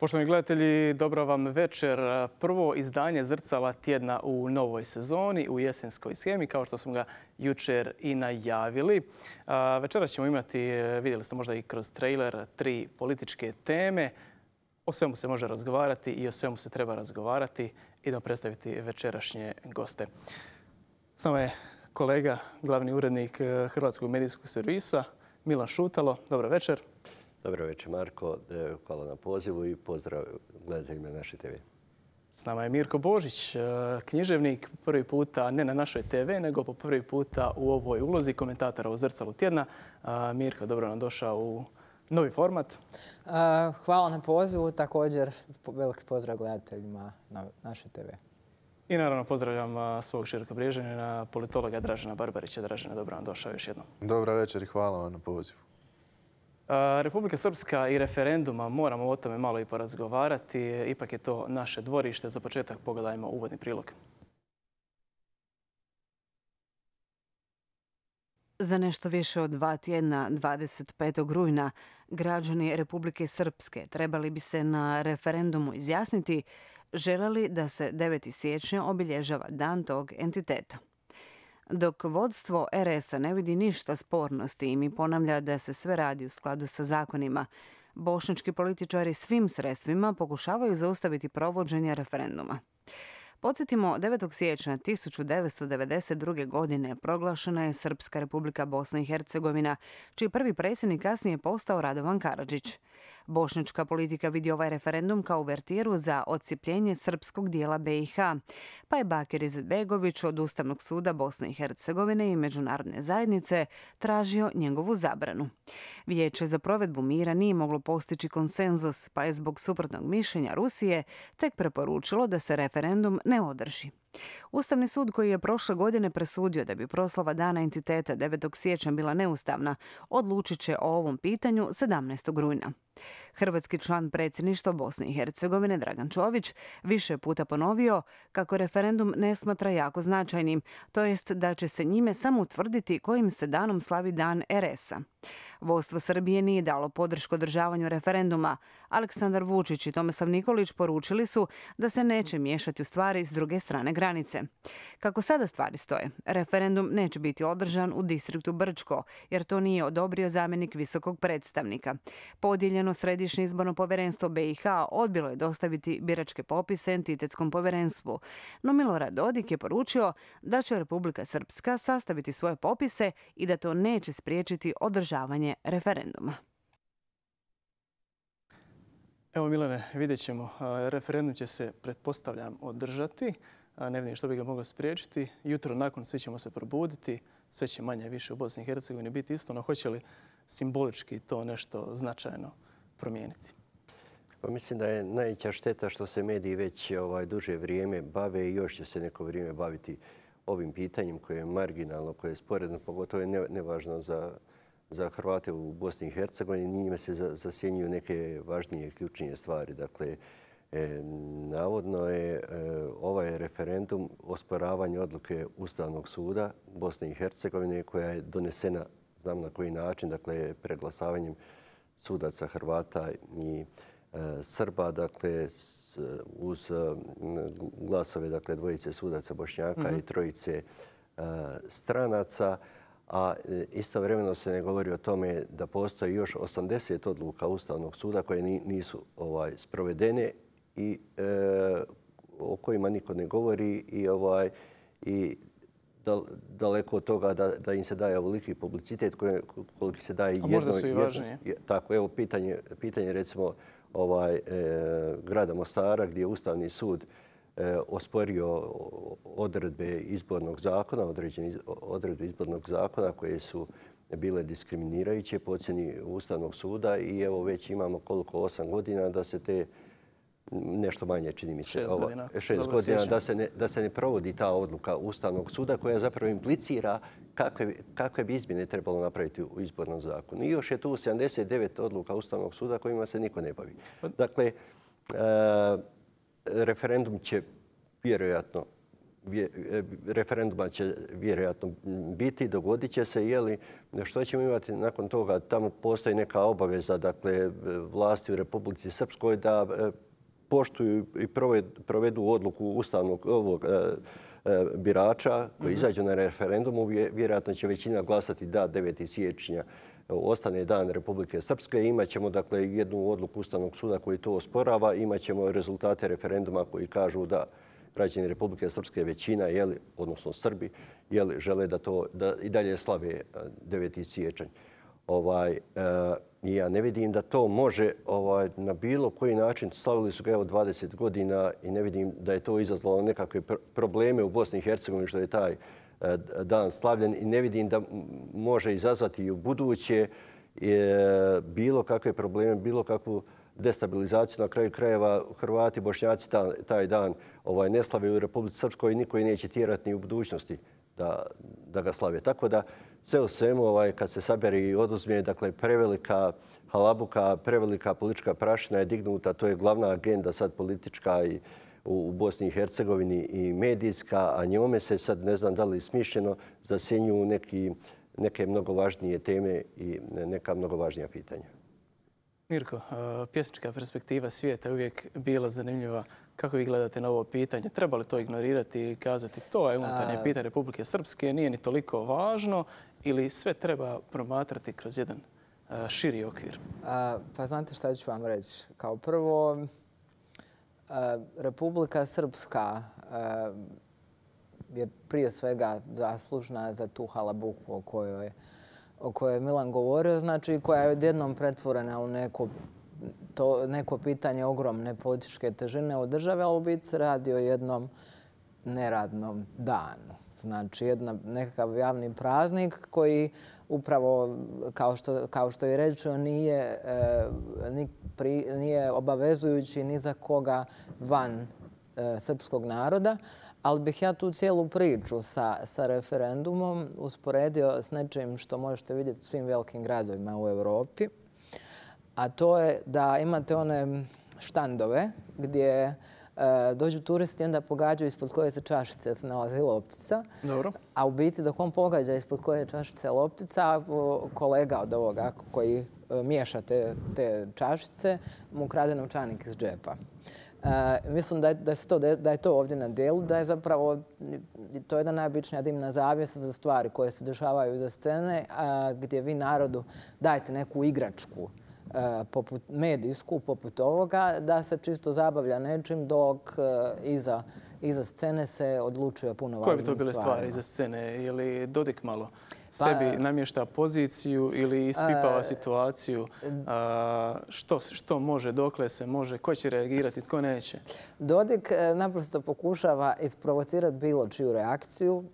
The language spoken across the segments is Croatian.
Poštovani gledatelji, dobro vam večer. Prvo izdanje Zrcala tjedna u novoj sezoni, u jesenskoj shemi, kao što smo ga jučer i najavili. Večeras ćemo imati, vidjeli ste možda i kroz trailer, 3 političke teme. O svemu se može razgovarati i o svemu se treba razgovarati. Idemo predstaviti večerašnje goste. S nama je kolega, glavni urednik Hrvatskog medijskog servisa, Milan Šutalo. Dobro večer. Dobro večer, Marko. Hvala na pozivu i pozdrav gledateljima naše TV. S nama je Mirko Božić, književnik, prvi puta ne na našoj TV, nego po prvi puta u ovoj ulozi komentatora u Zrcalu tjedna. Mirko, dobro nam došao u novi format. Hvala na pozivu, također veliki pozdrav gledateljima na našoj TV. I naravno pozdravljam svog širokobriježanina, politologa Dražena Barbarića. Dražena, dobro nam došao još jednom. Dobra večer i hvala vam na pozivu. Republika Srpska i referenduma, moramo o tome malo i porazgovarati. Ipak je to naše dvorište. Za početak pogledajmo uvodni prilog. Za nešto više od 2 tjedna, 25. rujna, građani Republike Srpske trebali bi se na referendumu izjasniti žele li da se 9. siječnja obilježava dan tog entiteta. Dok vodstvo RS-a ne vidi ništa sporno s tim i ponavlja da se sve radi u skladu sa zakonima, bošnjački političari svim sredstvima pokušavaju zaustaviti provođenje referenduma. Podsjetimo, 9. siječnja 1992. godine proglašena je Srpska republika Bosna i Hercegovina, čiji prvi predsjednik kasnije postao Radovan Karadžić. Bošnjačka politika vidi ovaj referendum kao uvertiru za odcijepljenje srpskog dijela BiH, pa je Bakir Izetbegović od Ustavnog suda Bosne i Hercegovine i međunarodne zajednice tražio njegovu zabranu. Vijeće za provedbu mira nije moglo postići konsenzus, pa je zbog suprotnog mišljenja Rusije tek preporučilo da se referendum ne održi. Ustavni sud, koji je prošle godine presudio da bi proslava dana entiteta 9. siječnja bila neustavna, odlučit će o ovom pitanju 17. rujna. Hrvatski član predsjedništva Bosne i Hercegovine Dragan Čović više puta ponovio kako referendum ne smatra jako značajnim, to jest da će se njime samo utvrditi kojim se danom slavi dan RS-a. Vodstvo Srbije nije dalo podršku održavanju referenduma. Aleksandar Vučić i Tomislav Nikolić poručili su da se neće miješati u stvari s druge strane granice. Kako sada stvari stoje, referendum neće biti održan u distriktu Brčko, jer to nije odobrio zamjenik visokog predstavnika. Podijeljeno Središnje izborno povjerenstvo BiH odbilo je dostaviti biračke popise entitetskom povjerenstvu, no Milorad Dodik je poručio da će Republika Srpska sastaviti svoje popise i da to neće spriječiti održavanje referenduma. Evo Milane, vidjet ćemo. Referendum će se, pretpostavljam, održati. Ne vidim što bi ga moglo spriječiti. Jutro nakon svi ćemo se probuditi. Sve će manje više u Bosni i Hercegovini biti isto, no hoće li simbolički to nešto značajno promijeniti? Pa mislim da je najveća šteta što se mediji već duže vrijeme bave i još će se neko vrijeme baviti ovim pitanjem koje je marginalno, koje je sporedno, pogotovo je nevažno za Hrvate u Bosni i Hercegovini. Njime se zasjenjuju neke važnije i ključnije stvari. Dakle, navodno je ovaj referendum osporavanje odluke Ustavnog suda Bosne i Hercegovine koja je donesena, znam na koji način, dakle preglasavanjem sudaca Hrvata i Srba, dakle uz glasove dakle dvojice sudaca Bošnjaka i trojice stranaca. A istovremeno se ne govori o tome da postoji još 80 odluka Ustavnog suda koje nisu sprovedene i o kojima niko ne govori i daleko od toga da im se daje ovoliki publicitet koliki se daje jedno. A možda su i važnije. Tako, evo pitanje recimo grada Mostara gdje je Ustavni sud osporio odredbe izbornog zakona, određene odredbe izbornog zakona koje su bile diskriminirajuće po ocjeni Ustavnog suda i evo već imamo koliko 8 godina da se te nešto manje, čini mi se, 6 godina, da se ne provodi ta odluka Ustavnog suda koja zapravo implicira kakve bi izmjene trebalo napraviti u izbornom zakonu. I još je tu 79 odluka Ustavnog suda kojima se niko ne bavi. Dakle, referendum će vjerojatno referenduma će vjerojatno biti, dogodit će se, što ćemo imati nakon toga? Tamo postoji neka obaveza, dakle, vlasti u Republici Srpskoj da poštuju i provedu odluku ustavnog birača koji izađu na referendumu. Vjerojatno će većina glasati da 9. siječnja ostane dan Republike Srpske. Imaćemo, dakle, jednu odluku Ustavnog suda koji to osporava. Imaćemo rezultate referenduma koji kažu da građani Republike Srpske većina, odnosno Srbi, žele da i dalje slave 9. siječanj. Ja ne vidim da to može na bilo koji način. Slavili su ga 20 godina i ne vidim da je to izazvalo nekakve probleme u Bosni i Hercegovini što je taj dan slavljen i ne vidim da može izazvati i u buduće bilo kakve probleme, bilo kakvu destabilizaciju. Na kraju krajeva Hrvati, Bošnjaci taj dan ne slave u Republici Srpskoj i niko ih neće tjerati ni u budućnosti da ga slave. Tako da sve u svemu kad se sabere i oduzme, dakle, prevelika halabuka, prevelika politička prašina je dignuta. To je glavna agenda sad politička i u Bosni i Hercegovini i medijska, a njome se sad ne znam da li smišljeno zasjenjuju neke mnogo važnije teme i neka mnogo važnija pitanja. Mirko, pjesnička perspektiva svijeta je uvijek bila zanimljiva. Kako vi gledate na ovo pitanje? Treba li to ignorirati i kazati to je unutarnje pitanje Republike Srpske, nije ni toliko važno ili sve treba promatrati kroz jedan širi okvir? Pa znate šta ću vam reći? Kao prvo, Republika Srpska je prije svega zaslužna za tu halabuku o kojoj je Milan govorio, znači koja je odjednom pretvorena u neko pitanje ogromne političke težine od države, ali u biti se radi o jednom neradnom danu. Znači nekakav javni praznik koji upravo, kao što je rečeno, nije obavezujući ni za koga van srpskog naroda. Ali bih ja tu cijelu priču sa referendumom usporedio s nečim što možete vidjeti u svim velikim gradovima u Europi. A to je da imate one štandove gdje dođu turisti i onda pogađaju ispod koje se čašice se nalazi loptica. Dobro. A u biti dok on pogađa ispod koje čašice loptica, kolega od ovoga koji miješa te čašice mu krade novčanik iz džepa. Mislim da je to ovdje na djelu, da je zapravo to jedna najobičnija dimna zavjesa za stvari koje se dešavaju iza scene, gdje vi narodu dajete neku igračku medijsku poput ovoga, da se čisto zabavlja nečim dok iza scene se odlučuje puno važnim stvarima. Koje bi to bile stvari iza scene? Je li Dodik malo sebi namješta poziciju ili ispipava situaciju? Što može, dokle se može, ko će reagirati, tko neće? Dodik naprosto pokušava isprovocirati bilo čiju reakciju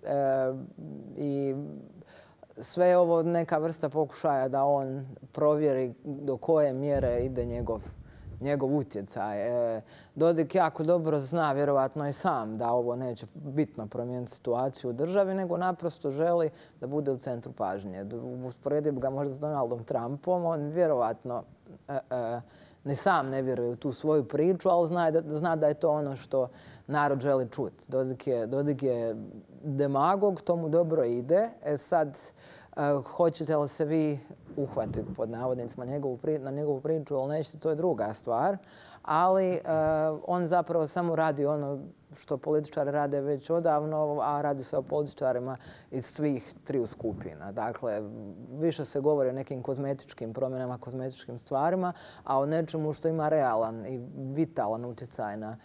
i sve je ovo neka vrsta pokušaja da on provjeri do koje mjere ide njegov utjecaj. Dodik jako dobro zna, vjerovatno i sam, da ovo neće bitno promijeniti situaciju u državi, nego naprosto želi da bude u centru pažnje. Usporedio bi ga možda s Donaldom Trumpom, on vjerovatno ni sam ne vjeruje u tu svoju priču, ali zna da je to ono što narod želi čuti. Dodik je demagog, to mu dobro ide. Sad, hoćete li se vi uhvatiti pod navodnicima na njegovu priču ili nećete, to je druga stvar. Ali on zapravo samo radi ono što političari rade već odavno, a radi se o političarima iz svih triju skupina. Dakle, više se govori o nekim kozmetičkim promjenama, kozmetičkim stvarima, a o nečemu što ima realan i vitalan utjecaj na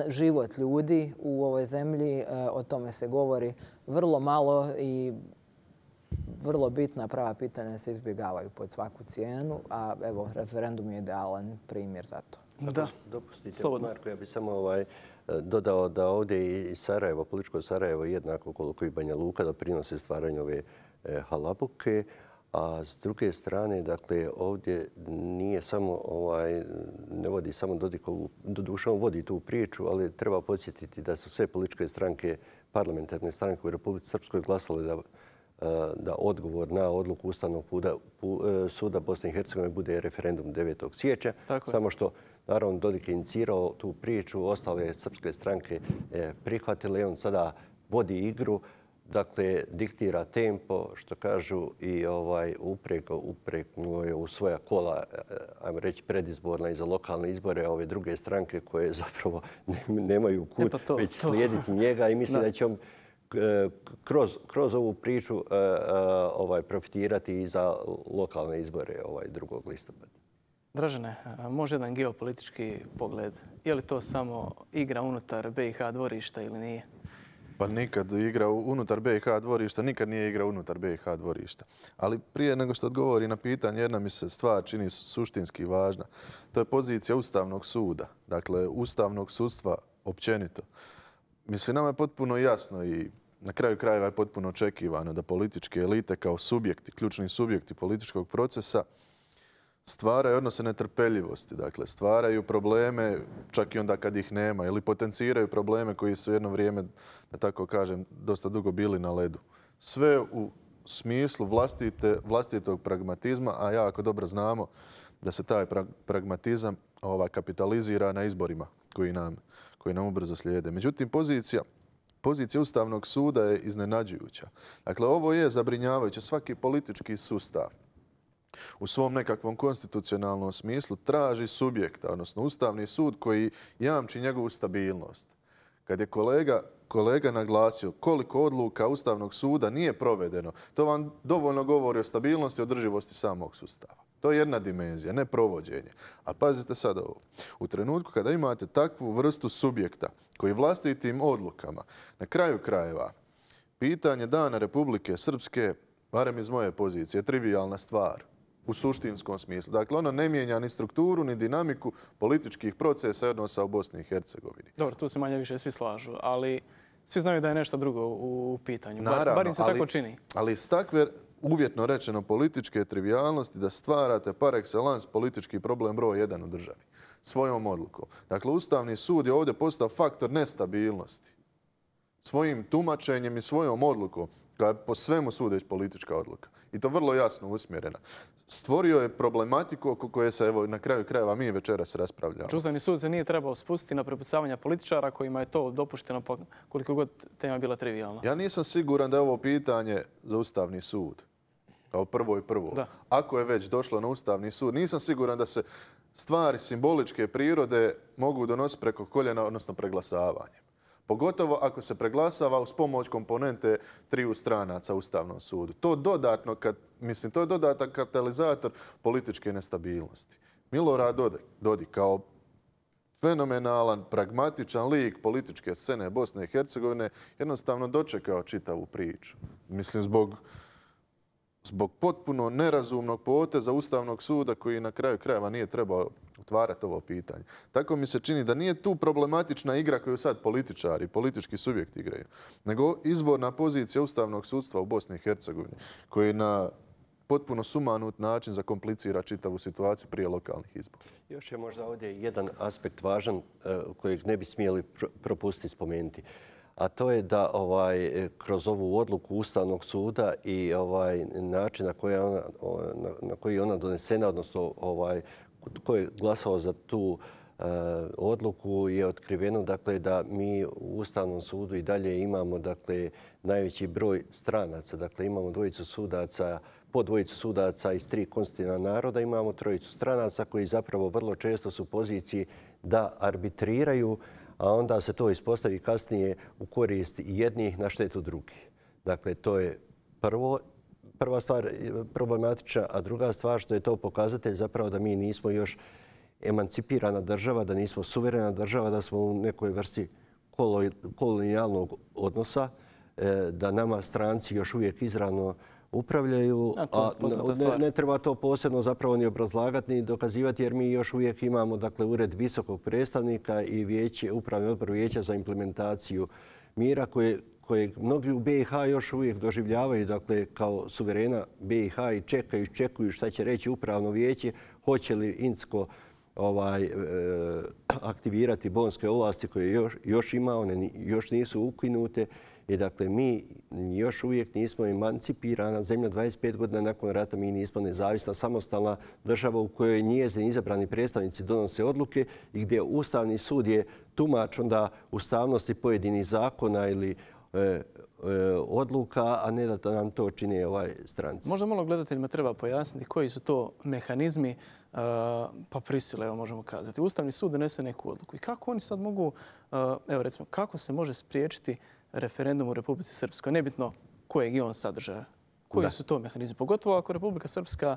život ljudi u ovoj zemlji. O tome se govori vrlo malo i vrlo bitna prava pitanja se izbjegavaju pod svaku cijenu, a evo, referendum je idealan primjer za to. Da, dopustite, Marko, ja bih samo dodao da ovdje i Sarajevo, političko Sarajevo, jednako koliko i Banja Luka doprinose stvaranju ove halabuke, a s druge strane, dakle, ovdje nije samo, ne vodi samo Dodikovu, doduše on vodi tu priču, ali treba podsjetiti da su sve političke stranke, parlamentarne stranke u Republici Srpskoj glasale da odgovor na odluku Ustavnog suda Bosne i Hercegovine bude referendum 9. siječnja. Samo što Naravno, Dodik je inicirao tu priču, ostale srpske stranke prihvatile i on sada vodi igru. Dakle, diktira tempo, što kažu, i upregnuo je u svoja kola, ajmo reći, predizborna i za lokalne izbore, ove druge stranke koje zapravo nemaju kud već slijediti njega i mislim da će on kroz ovu priču profitirati i za lokalne izbore 2. listopada. Dražene, može jedan geopolitički pogled. Je li to samo igra unutar BiH dvorišta ili nije? Pa nikad igra unutar BiH dvorišta, nikad nije igra unutar BiH dvorišta. Ali prije nego što odgovori na pitanje, jedna mi se stvar čini suštinski važna. To je pozicija Ustavnog suda, dakle Ustavnog sudstva općenito. Mislim, nama je potpuno jasno i na kraju krajeva je potpuno očekivano da političke elite kao subjekti, ključni subjekti političkog procesa stvaraju odnose netrpeljivosti, dakle stvaraju probleme čak i onda kad ih nema ili potenciraju probleme koji su jedno vrijeme, da tako kažem, dosta dugo bili na ledu. Sve u smislu vlastitog pragmatizma, a jako dobro znamo da se taj pragmatizam kapitalizira na izborima koji nam ubrzo slijede. Međutim, pozicija Ustavnog suda je iznenađujuća. Dakle, ovo je zabrinjavajuće. Svaki politički sustav u svom nekakvom konstitucionalnom smislu traži subjekta, odnosno Ustavni sud koji jamči njegovu stabilnost. Kad je kolega naglasio koliko odluka Ustavnog suda nije provedeno, to vam dovoljno govori o stabilnosti i održivosti samog sustava. To je jedna dimenzija, ne provođenje. A pazite sad ovo. U trenutku kada imate takvu vrstu subjekta koji vlastitim odlukama, na kraju krajeva, pitanje dana Republike Srpske, barem iz moje pozicije, je trivijalna stvar u suštinskom smislu. Dakle, ono ne mijenja ni strukturu, ni dinamiku političkih procesa i odnosa u Bosni i Hercegovini. Dobro, tu se manje više svi slažu, ali svi znaju da je nešto drugo u pitanju. Naravno, bar im se tako čini. Ali iz takve, uvjetno rečeno, političke trivijalnosti da stvarate par excellence politički problem broj 1 u državi svojom odlukom. Dakle, Ustavni sud je ovdje postao faktor nestabilnosti. Svojim tumačenjem i svojom odlukom, koja je po svemu sudeć politička odluka. I to vrlo jasno usmjerena. Stvorio je problematiku oko koje se, evo, na kraju krajeva mi večeras raspravljamo. Ustavni sud se nije trebao spustiti na prepucavanja političara kojima je to dopušteno koliko god tema bila trivijalna. Ja nisam siguran da je ovo pitanje za Ustavni sud. Kao prvo i prvo. Da. Ako je već došlo na Ustavni sud, nisam siguran da se stvari simboličke prirode mogu donositi preko koljena, odnosno preglasavanjem. Pogotovo ako se preglasava uz pomoć komponente 3 stranaca Ustavnom sudu. To je dodatan katalizator političke nestabilnosti. Milorad Dodik kao fenomenalan, pragmatičan lik političke scene Bosne i Hercegovine jednostavno dočekao čitavu priču. Mislim, zbog potpuno nerazumnog poteza Ustavnog suda koji na kraju krajeva nije trebao otvarati ovo pitanje. Tako mi se čini da nije tu problematična igra koju sad političari, politički subjekti igraju, nego izvorna pozicija Ustavnog sudstva u Bosni i Hercegovini koji na potpuno sumanut način zakomplicira čitavu situaciju prije lokalnih izbora. Još je možda ovdje jedan aspekt važan kojeg ne bi smjeli propustiti spomenuti. A to je da kroz ovu odluku Ustavnog suda i način na koji je ona donesena, odnosno tko je glasao za tu odluku, je otkriveno da mi u Ustavnom sudu i dalje imamo najveći broj stranaca. Dakle, imamo po dvojicu sudaca iz 3 konstitutivna naroda, imamo 3 stranaca koji zapravo vrlo često su u poziciji da arbitriraju, a onda se to ispostavi kasnije u korist jednih na štetu drugih. Dakle, to je prva stvar problematična, a druga stvar što je to pokazatelj zapravo da mi nismo još emancipirana država, da nismo suverena država, da smo u nekoj vrsti kolonijalnog odnosa, da nama stranci još uvijek izravno upravljaju, a ne treba to posebno zapravo ni obrazlagati ni dokazivati jer mi još uvijek imamo ured visokog predstavnika i upravni odbor vijeća za implementaciju mira kojeg mnogi u BiH još uvijek doživljavaju kao suverena BiH i čekuju šta će reći upravno vijeće, hoće li Incko aktivirati bonske ovlasti koje još ima, one još nisu ukinute. I dakle, mi još uvijek nismo emancipirana zemlja. 25 godina nakon rata mi nismo nezavisna, samostalna država u kojoj njezini izabrani predstavnici donose odluke i gdje Ustavni sud je tumač onda ustavnosti pojedinih zakona ili odluka, a ne da nam to čine stranci. Možda malo gledateljima treba pojasniti koji su to mehanizmi pa prisile, evo možemo kazati. Ustavni sud donese neku odluku. I kako oni sad mogu, evo recimo, kako se može spriječiti referendum u Republici Srpskoj? Nebitno kojeg je on sadržaja. Koji su to mehanizmi? Pogotovo ako Republika Srpska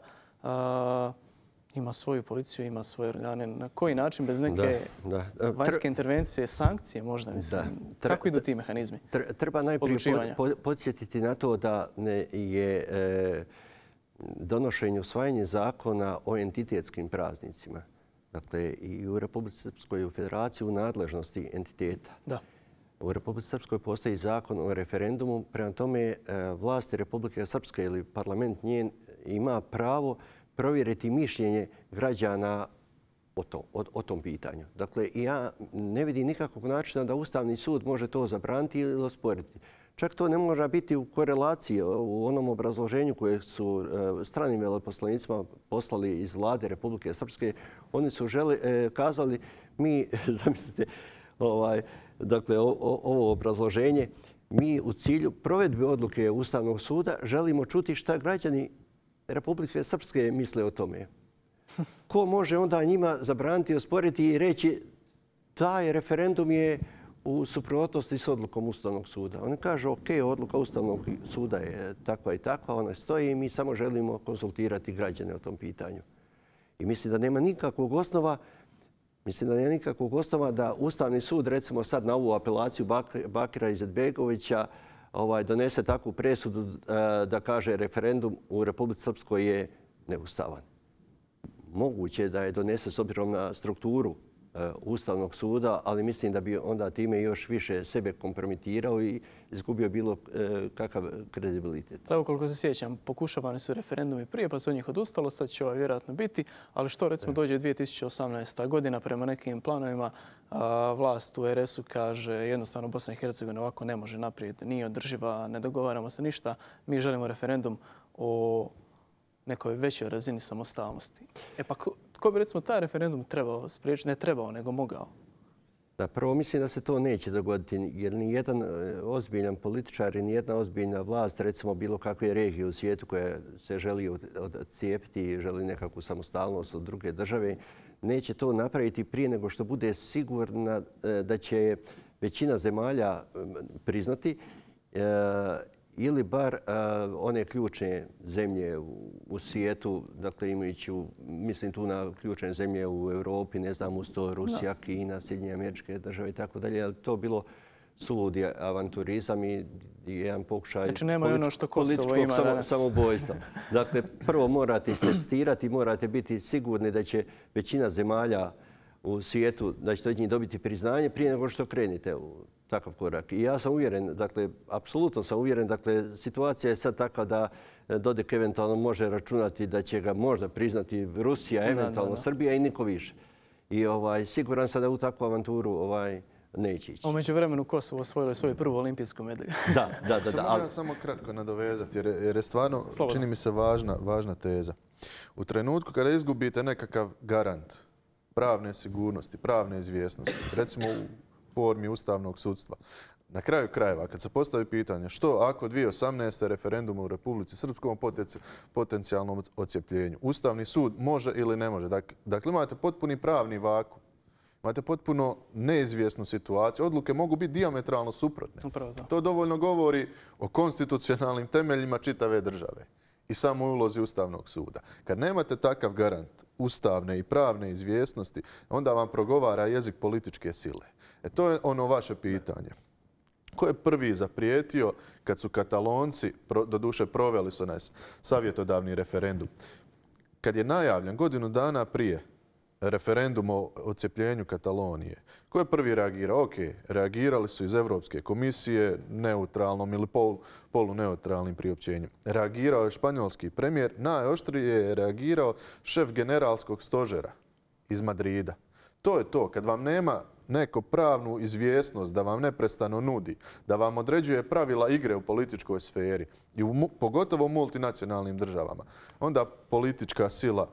ima svoju policiju, ima svoje organe. Na koji način bez neke vanjske intervencije, sankcije možda, mislim? Kako idu ti mehanizmi? Treba najprije podsjetiti na to da je donošenje, usvajanje zakona o entitetskim praznicima. Dakle, i u Republici Srpskoj i u Federaciji u nadležnosti entiteta. Da. U Republici Srpskoj postoji zakon o referendumu. Prema tome, vlasti Republike Srpske ili parlament njen ima pravo provjeriti mišljenje građana o tom pitanju. Dakle, ja ne vidim nikakvog načina da Ustavni sud može to zabraniti ili osporiti. Čak to ne može biti u korelaciji u onom obrazloženju koje su stranim veleposlanicima poslali iz vlade Republike Srpske. Oni su kazali, mi, zamislite, dakle, ovo obrazloženje, mi u cilju provedbe odluke Ustavnog suda želimo čuti šta građani Republike Srpske misle o tome. Ko može onda njima zabraniti, osporiti i reći taj referendum je u suprotnosti s odlukom Ustavnog suda? Oni kažu, ok, odluka Ustavnog suda je takva i takva, ona stoji i mi samo želimo konsultirati građane o tom pitanju. I mislim da nema nikakvog osnova da Ustavni sud, recimo sad na ovu apelaciju Bakira Izetbegovića, donese takvu presudu da kaže referendum u Republici Srpskoj je neustavan. Moguće je da je donese s obzirom na strukturu Ustavnog suda, ali mislim da bi onda time još više sebe kompromitirao i izgubio bilo kakav kredibilitet. Da, ukoliko se sjećam, pokušavani su referendumi prije, pa se od njih odustalo, sad će ovaj vjerojatno biti, ali što recimo dođe 2018. godina prema nekim planovima, vlast u RS-u kaže jednostavno Bosna i Hercegovina ovako ne može naprijed, nije održiva, ne dogovaramo se ništa, mi želimo referendum o nekoj većoj razini samostalnosti. E pa tko bi recimo taj referendum trebao spriječiti? Ne trebao, nego mogao. Da, prvo mislim da se to neće dogoditi jer nijedan ozbiljan političar i nijedna ozbiljna vlast, recimo bilo kakve regije u svijetu koja se želi odcijepiti i želi nekakvu samostalnost od druge države, neće to napraviti prije nego što bude sigurna da će većina zemalja priznati ili bar one ključne zemlje u svijetu, dakle imajući, mislim tu na ključne zemlje u Europi, ne znam, uz to Rusija, Kina, Sjedinjene Američke Države i tako dalje, ali to bilo suludi avanturizam i jedan pokušaj političkog samobojstva. Dakle, prvo morate istestirati, morate biti sigurni da će većina zemalja u svijetu, da ćete od njih dobiti priznanje prije nego što krenete u takav korak. I ja sam uvjeren, dakle, apsolutno sam uvjeren, dakle, situacija je sad takva da Dodik eventualno može računati da će ga možda priznati Rusija, eventualno Srbija i niko više. I siguran sam da u takvu avanturu neće ići. U međuvremenu Kosovo osvojilo svoju prvu olimpijsku medalju. Da. Mogu ja samo kratko nadovezati jer je stvarno, čini mi se, važna teza. U trenutku kada izgubite nekakav garant pravne sigurnosti, pravne izvjesnosti, recimo u formi ustavnog sudstva. Na kraju krajeva, kad se postavi pitanje što ako 2018. referendum u Republici Srpskoj potencijalnom odcijepljenju, Ustavni sud može ili ne može. Dakle, imate potpuni pravni vakuum. Imate potpuno neizvjesnu situaciju. Odluke mogu biti dijametralno suprotne. To dovoljno govori o konstitucionalnim temeljima čitave države i samo ulozi Ustavnog suda. Kad nemate takav garant ustavne i pravne izvjesnosti, onda vam progovara jezik političke sile. To je ono vaše pitanje. Ko je prvi zaprijetio kad su Katalonci, doduše proveli su nas savjetodavni referendum, kad je najavljen godinu dana prije referendum o odcijepljenju Katalonije, ko je prvi reagirao? Ok, reagirali su iz Europske komisije neutralnom ili poluneutralnim priopćenjem. Reagirao je španjolski premijer, najoštrije je reagirao šef generalskog stožera iz Madrida. To je to. Kad vam nema neko pravnu izvjesnost da vam neprestano nudi, da vam određuje pravila igre u političkoj sferi i pogotovo u multinacionalnim državama, onda politička sila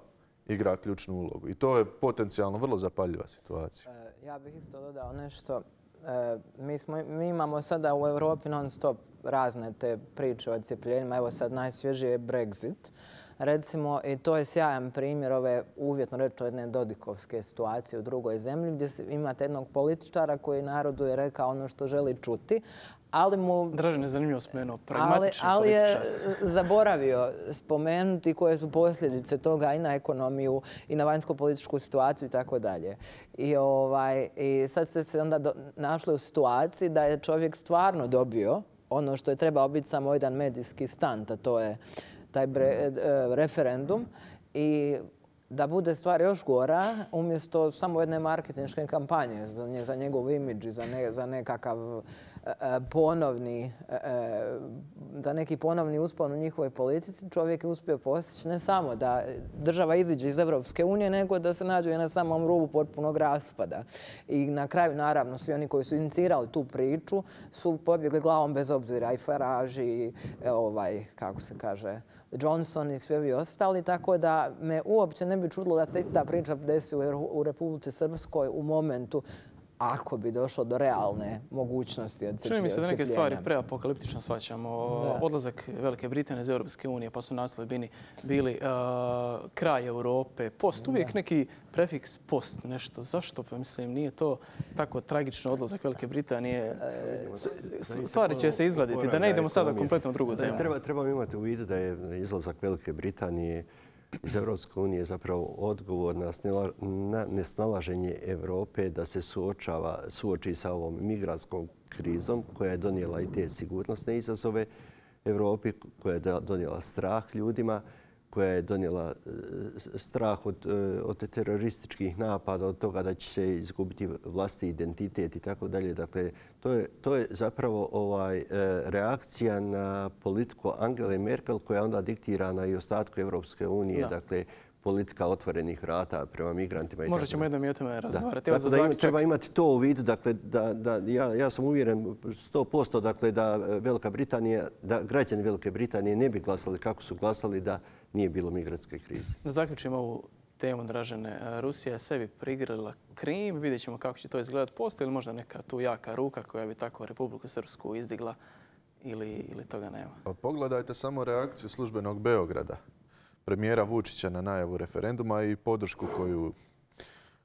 igra ključnu ulogu. I to je potencijalno vrlo zapaljiva situacija. Ja bih isto dodao nešto. Mi imamo sada u Europi non stop razne te priče o odcjepljenjima. Evo sad najsvježije je Brexit. Recimo, i to je sjajan primjer ove uvjetno rečeno jedne dodikovske situacije u drugoj zemlji gdje imate jednog političara koji narodu je rekao ono što želi čuti, ali mu... Dražen je zanimljivo spomenuo, pragmatični ali je političar. zaboravio spomenuti koje su posljedice toga i na ekonomiju i na vanjsko-političku situaciju i tako dalje. I sad ste se onda našli u situaciji da je čovjek stvarno dobio ono što je trebao biti samo jedan medijski stunt, a to je taj referendum. I da bude stvar još gora, umjesto samo jedne marketinške kampanje za njegov imidž i za nekakav za neki ponovni uspon u njihovoj politici, čovjek je uspio postići ne samo da država iziđe iz Europske unije, nego da se nađe na samom rubu potpunog raspada. I na kraju, naravno, svi oni koji su inicirali tu priču su pobjegli glavom bez obzira, i Farage i kako se kaže, Johnson i svi ovi ostali, tako da me uopće ne bi čudilo da se ista priča desi u Republici Srpskoj u momentu ako bi došlo do realne mogućnosti odcepljenja. Čini mi se da neke stvari preapokaliptično shvaćamo. Odlazak Velike Britanije iz Europske unije, pa su naslovi bili kraj Europe, post. Uvijek neki prefiks post, nešto. Zašto? Pa mislim, nije to tako tragično odlazak Velike Britanije. Stvari će se izgladiti, da ne idemo sada kompletno u drugu temu. Trebamo imati u vidu da je izlazak Velike Britanije iz Europske unije zapravo odgovor na nesnalaženje Europe da se suoči sa ovom migrantskom krizom koja je donijela i te sigurnosne izazove Europi, koja je donijela strah ljudima, koja je donijela strah od terorističkih napada, od toga da će se izgubiti vlastiti identitet i tako dalje. Dakle, to je zapravo reakcija na politiku Angele Merkel koja je onda diktirana i ostatku Europske unije. Dakle, politika otvorenih vrata prema migrantima. Možda ćemo jednom i o tome razgovarati. Treba imati to u vidu. Dakle, ja sam uvjeren 100% dakle, da građani Velike Britanije ne bi glasali kako su glasali da nije bilo migrantske krize. Da zaključimo ovu temu, Dražene. Rusija je sebi prigrlila Krim. Vidjet ćemo kako će to izgledati. Postoji li možda neka tu jaka ruka koja bi tako Republiku Srpsku izdigla ili toga nema? Pa pogledajte samo reakciju službenog Beograda, premijera Vučića na najavu referenduma i podršku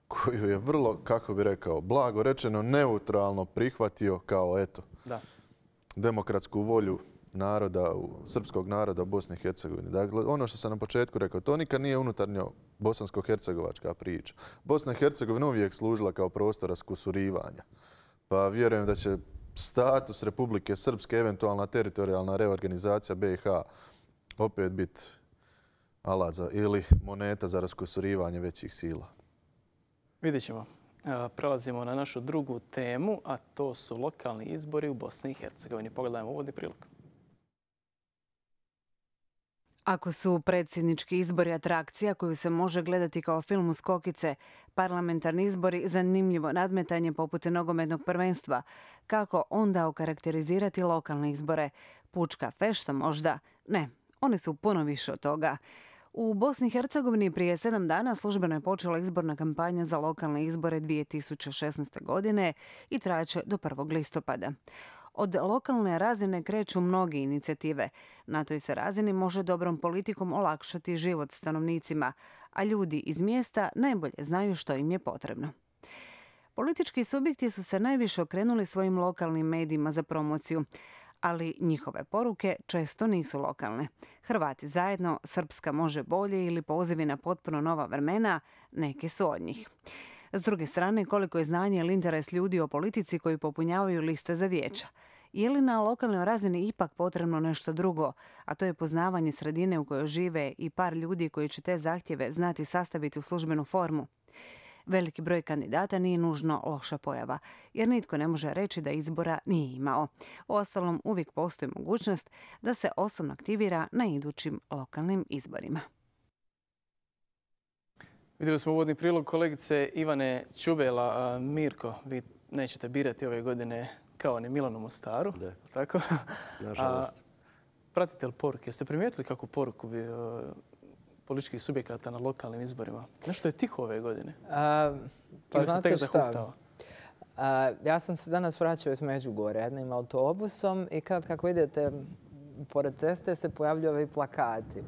koju je vrlo, kako bi rekao, blago rečeno neutralno prihvatio kao demokratsku volju srpskog naroda u Bosni i Hercegovini. Dakle, ono što sam na početku rekao, to nikad nije unutarnjo bosansko-hercegovačka priča. Bosna i Hercegovina uvijek služila kao prostor raskusurivanja. Pa vjerujem da će status Republike Srpske, eventualna teritorijalna reorganizacija BiH opet biti alat ili moneta za raskusurivanje većih sila. Vidjet ćemo. Prelazimo na našu drugu temu, a to su lokalni izbori u Bosni i Hercegovini. Pogledajmo uvodni prilog. Ako su predsjednički izbori atrakcija koju se može gledati kao film uz kokice, parlamentarni izbori zanimljivo nadmetanje poput nogometnog prvenstva, kako onda okarakterizirati lokalne izbore? Pučka fešta možda? Ne, oni su puno više od toga. U Bosni i Hercegovini prije 7 dana službeno je počela izborna kampanja za lokalne izbore 2016. godine i trajaće do 1. listopada. Od lokalne razine kreću mnoge inicijative. Na toj se razini može dobrom politikom olakšati život stanovnicima, a ljudi iz mjesta najbolje znaju što im je potrebno. Politički subjekti su se najviše okrenuli svojim lokalnim medijima za promociju, ali njihove poruke često nisu lokalne. Hrvati zajedno, Srpska može bolje ili pozivi na potpuno nova vremena, neke su od njih. S druge strane, koliko je znanje ili interes ljudi o politici koji popunjavaju liste za vijeća? Je li na lokalnoj razini ipak potrebno nešto drugo, a to je poznavanje sredine u kojoj žive i par ljudi koji će te zahtjeve znati sastaviti u službenu formu? Veliki broj kandidata nije nužno loša pojava, jer nitko ne može reći da izbora nije imao. Uostalom, uvijek postoji mogućnost da se osobno aktivira na idućim lokalnim izborima. Vidjeli smo uvodni prilog kolegice Ivane Čubela. Mirko, vi nećete birati ove godine kao ni Milan u Mostaru. Da. Tako? Nažalost. Pratite li poruke? Jeste primijetili kakvu poruku bi političkih subjekata na lokalnim izborima? Nešto je tiho ove godine. Pa Ili se tek znate zahuktava? Ja sam se danas vraćao iz Međugorja jednim autobusom i kako idete pored ceste se pojavljuju ovi plakati.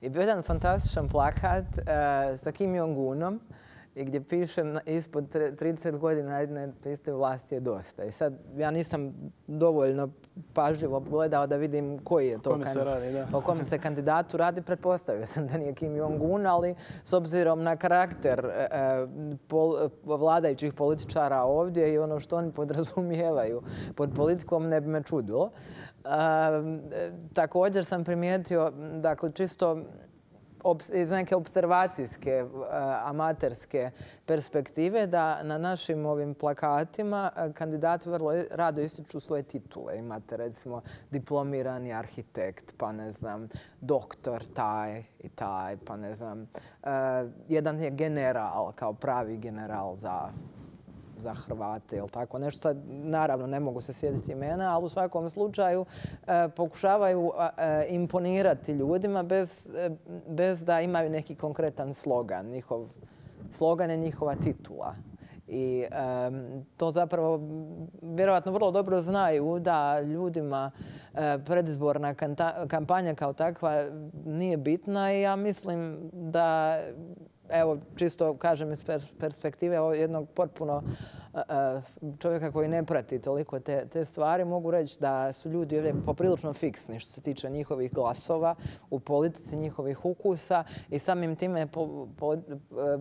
I bio jedan fantastičan plakat sa Kim Jong-unom i gdje piše ispod 30 godina jedne te iste vlasti je dosta. I sad ja nisam dovoljno pažljivo gledao da vidim koji je to o kom se kandidatu radi. Pretpostavio sam da nije Kim Jong-un, ali s obzirom na karakter vladajućih političara ovdje i ono što oni podrazumijevaju pod politikom ne bi me čudilo. Također sam primijetio, dakle, čisto iz neke observacijske, amaterske perspektive, da na našim ovim plakatima kandidati vrlo rado ističu svoje titule. Imate recimo diplomirani arhitekt, pa ne znam, doktor taj i taj, pa ne znam. Jedan je general, kao pravi general za Hrvate ili tako nešto. Sad, naravno, ne mogu se sjetiti imena, ali u svakom slučaju pokušavaju imponirati ljudima bez da imaju neki konkretan slogan. Slogan je njihova titula. I to zapravo vjerojatno vrlo dobro znaju da ljudima predizborna kampanja kao takva nije bitna i ja mislim da, evo, čisto kažem iz perspektive jednog potpuno čovjeka koji ne prati toliko te stvari, mogu reći da su ljudi ovdje poprilično fiksni što se tiče njihovih glasova u politici, njihovih ukusa i samim time je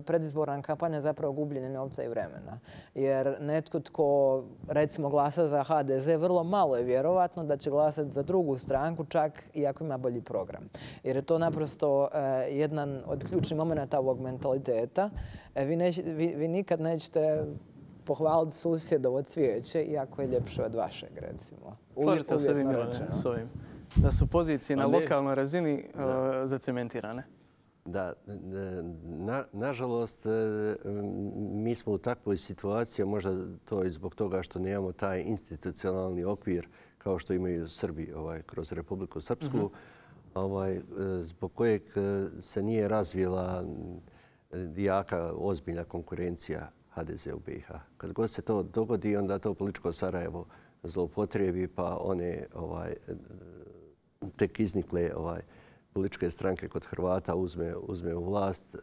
predizborna kampanja zapravo gubljenje novca i vremena. Jer netko tko recimo glasa za HDZ, vrlo malo je vjerovatno da će glasati za drugu stranku, čak i ako ima bolji program. Jer je to naprosto jedan od ključnih momenata ovog mentaliteta. Vi nikad nećete pohvaliti susjedovo cvijeće, iako je ljepše od vašeg, recimo. Slažete se vi, Milane, s ovim? Da su pozicije na lokalnoj razini zacementirane? Da, nažalost, mi smo u takvoj situaciji, možda to i zbog toga što nemamo taj institucionalni okvir kao što imaju Srbi kroz Republiku Srpsku, zbog kojeg se nije razvila jaka, ozbiljna konkurencija HDZ u BiH. Kad god se to dogodi, onda to političko Sarajevo zloupotrebi, pa one tek iznikle političke stranke kod Hrvata uzme u vlast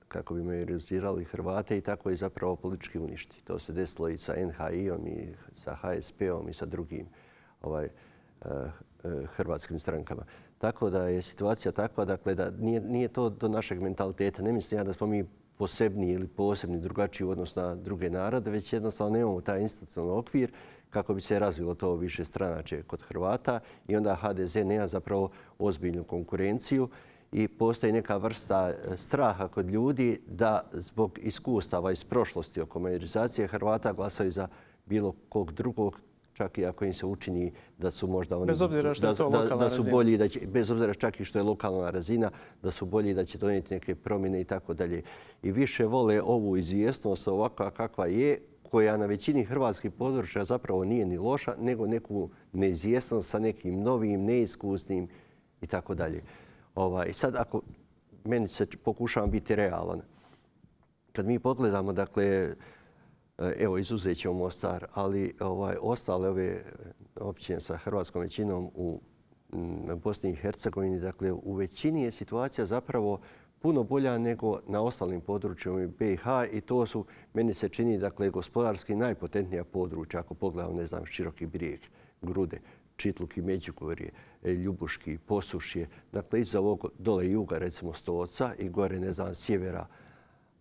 kako bi majorizirali Hrvate i tako i zapravo politički uništi. To se desilo i sa NHI-om i sa HSP-om i sa drugim hrvatskim strankama. Tako da je situacija takva, dakle, da nije to do našeg mentaliteta. Ne mislim ja da smo mi posebni ili posebni drugačiji u odnosu na druge narode, već jednostavno nemamo taj institucionalni okvir kako bi se razvilo to više stranačje kod Hrvata i onda HDZ nema zapravo ozbiljnu konkurenciju i postoji neka vrsta straha kod ljudi da zbog iskustava iz prošlosti oko majorizacije Hrvata glasaju za bilo kog drugog, čak i ako im se učini da su možda oni... Bez obzira što je to lokalna razina. Bolji, bez obzira čak i što je lokalna razina, da su bolji, da će donijeti neke promjene i tako dalje. I više vole ovu izvjesnost ovakva kakva je, koja na većini hrvatskih područja zapravo nije ni loša, nego neku neizvjesnost sa nekim novim, neiskusnim i tako dalje. I sad ako meni se pokušavam biti realan, kad mi pogledamo, dakle, evo, izuzet ćemo Mostar, ali ostale ove općine sa hrvatskom većinom u Bosni i Hercegovini, dakle, u većini je situacija zapravo puno bolja nego na ostalim područjima BiH i to su, meni se čini, dakle, gospodarski najpotentnija područja, ako pogledamo, ne znam, Široki Brijeg, Grude, Čitluk i Međugorje, Ljubuški, Posušje, dakle, iza ovog dole juga, recimo Stoca i gore, ne znam, sjevera,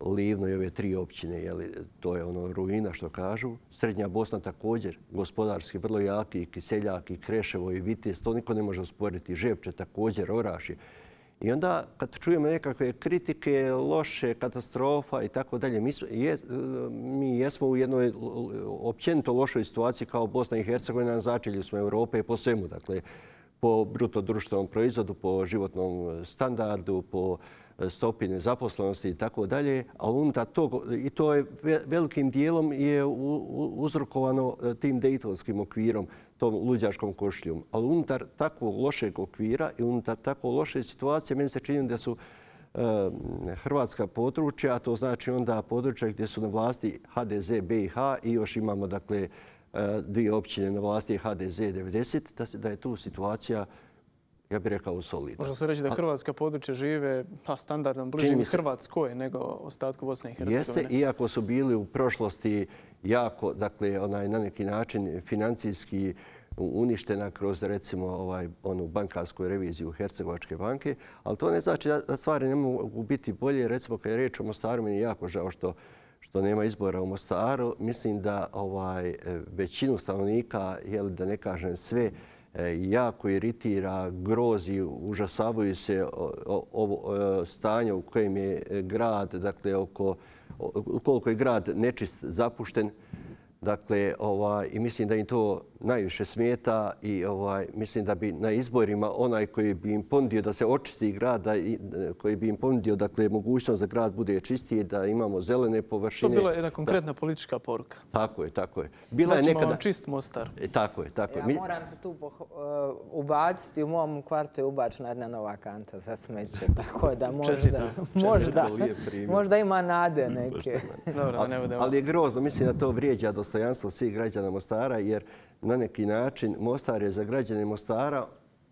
Livno i ove tri općine, to je ono ruina što kažu. Srednja Bosna također, gospodarski vrlo jaki, i Kiseljak, i Kreševo, i Vitez, to niko ne može usporiti. Žepče također, Orašje. I onda kad čujemo nekakve kritike, loše, katastrofa i tako dalje, mi jesmo u jednoj općenito lošoj situaciji kao Bosna i Hercegovina, na začelju smo Europe po svemu. Dakle, po bruto društvenom proizvodu, po životnom standardu, po stopi nezaposlenosti i tako dalje, a unutar tog, i to je velikim dijelom je uzrokovano tim dejtonskim okvirom, tom luđačkom košuljom. Ali unutar takvog lošeg okvira i unutar takvog loše situacije, meni se čini da su hrvatska područja, a to znači onda područja gdje su na vlasti HDZ BiH i još imamo dakle 2 općine na vlasti HDZ 90, da je tu situacija, ja bih rekao, solidna. Možda se reći da hrvatska područja žive standardom bližim Hrvatskoj nego ostatku Bosne i Hercegovine. Jeste, iako su bili u prošlosti jako, dakle, na neki način financijski uništena kroz, recimo, onu bankarsku reviziju Hercegovačke banke, ali to ne znači da stvari ne mogu biti bolje. Recimo, kad je riječ o Mostaru, meni je jako žao što nema izbora u Mostaru. Mislim da većinu stanovnika, da ne kažem sve, jako iritira, grozi, užasavaju se ovo stanje u kojem je grad, dakle, koliko je grad nečist, zapušten. Dakle, i mislim da im to najviše smeta i mislim da bi na izborima onaj koji bi im ponudio da se očisti grad, koji bi im ponudio, dakle, mogućnost da grad bude čistiji, da imamo zelene površine. To je bila jedna konkretna politička poruka. Tako je, tako je. Da ćemo vam čist Mostar. Tako je, tako je. Ja moram se tu ubaciti, u mom kvartu je ubačena jedna nova kanta za smeće, tako da možda ima nade neke. Ali je grozno, mislim da to vrijeđa dostojanstvo svih građana Mostara, jer na neki način Mostar je za građane Mostara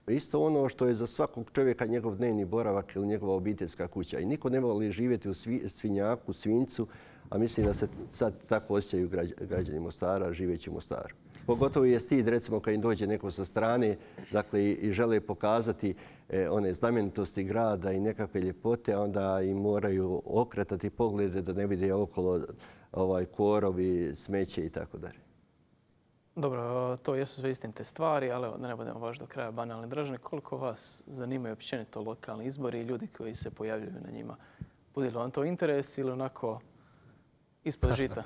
isto ono što je za svakog čovjeka njegov dnevni boravak ili njegova obiteljska kuća. I niko ne voli živjeti u Svinjaku, Svinjcu, a mislim da se sad tako osjećaju građani Mostara živeći u Mostaru. Pogotovo je stid, recimo, kad im dođe neko sa strane, dakle, i žele pokazati one znamenitosti grada i nekakve ljepote, a onda im moraju okretati poglede da ne vide okolo korovi, smeće i tako dalje. Dobro, to jesu sve istinite stvari, ali da ne budemo baš do kraja banalni. Dražene, koliko vas zanimaju općenito lokalni izbori i ljudi koji se pojavljuju na njima? Bude li vam to interes ili onako ispod žita?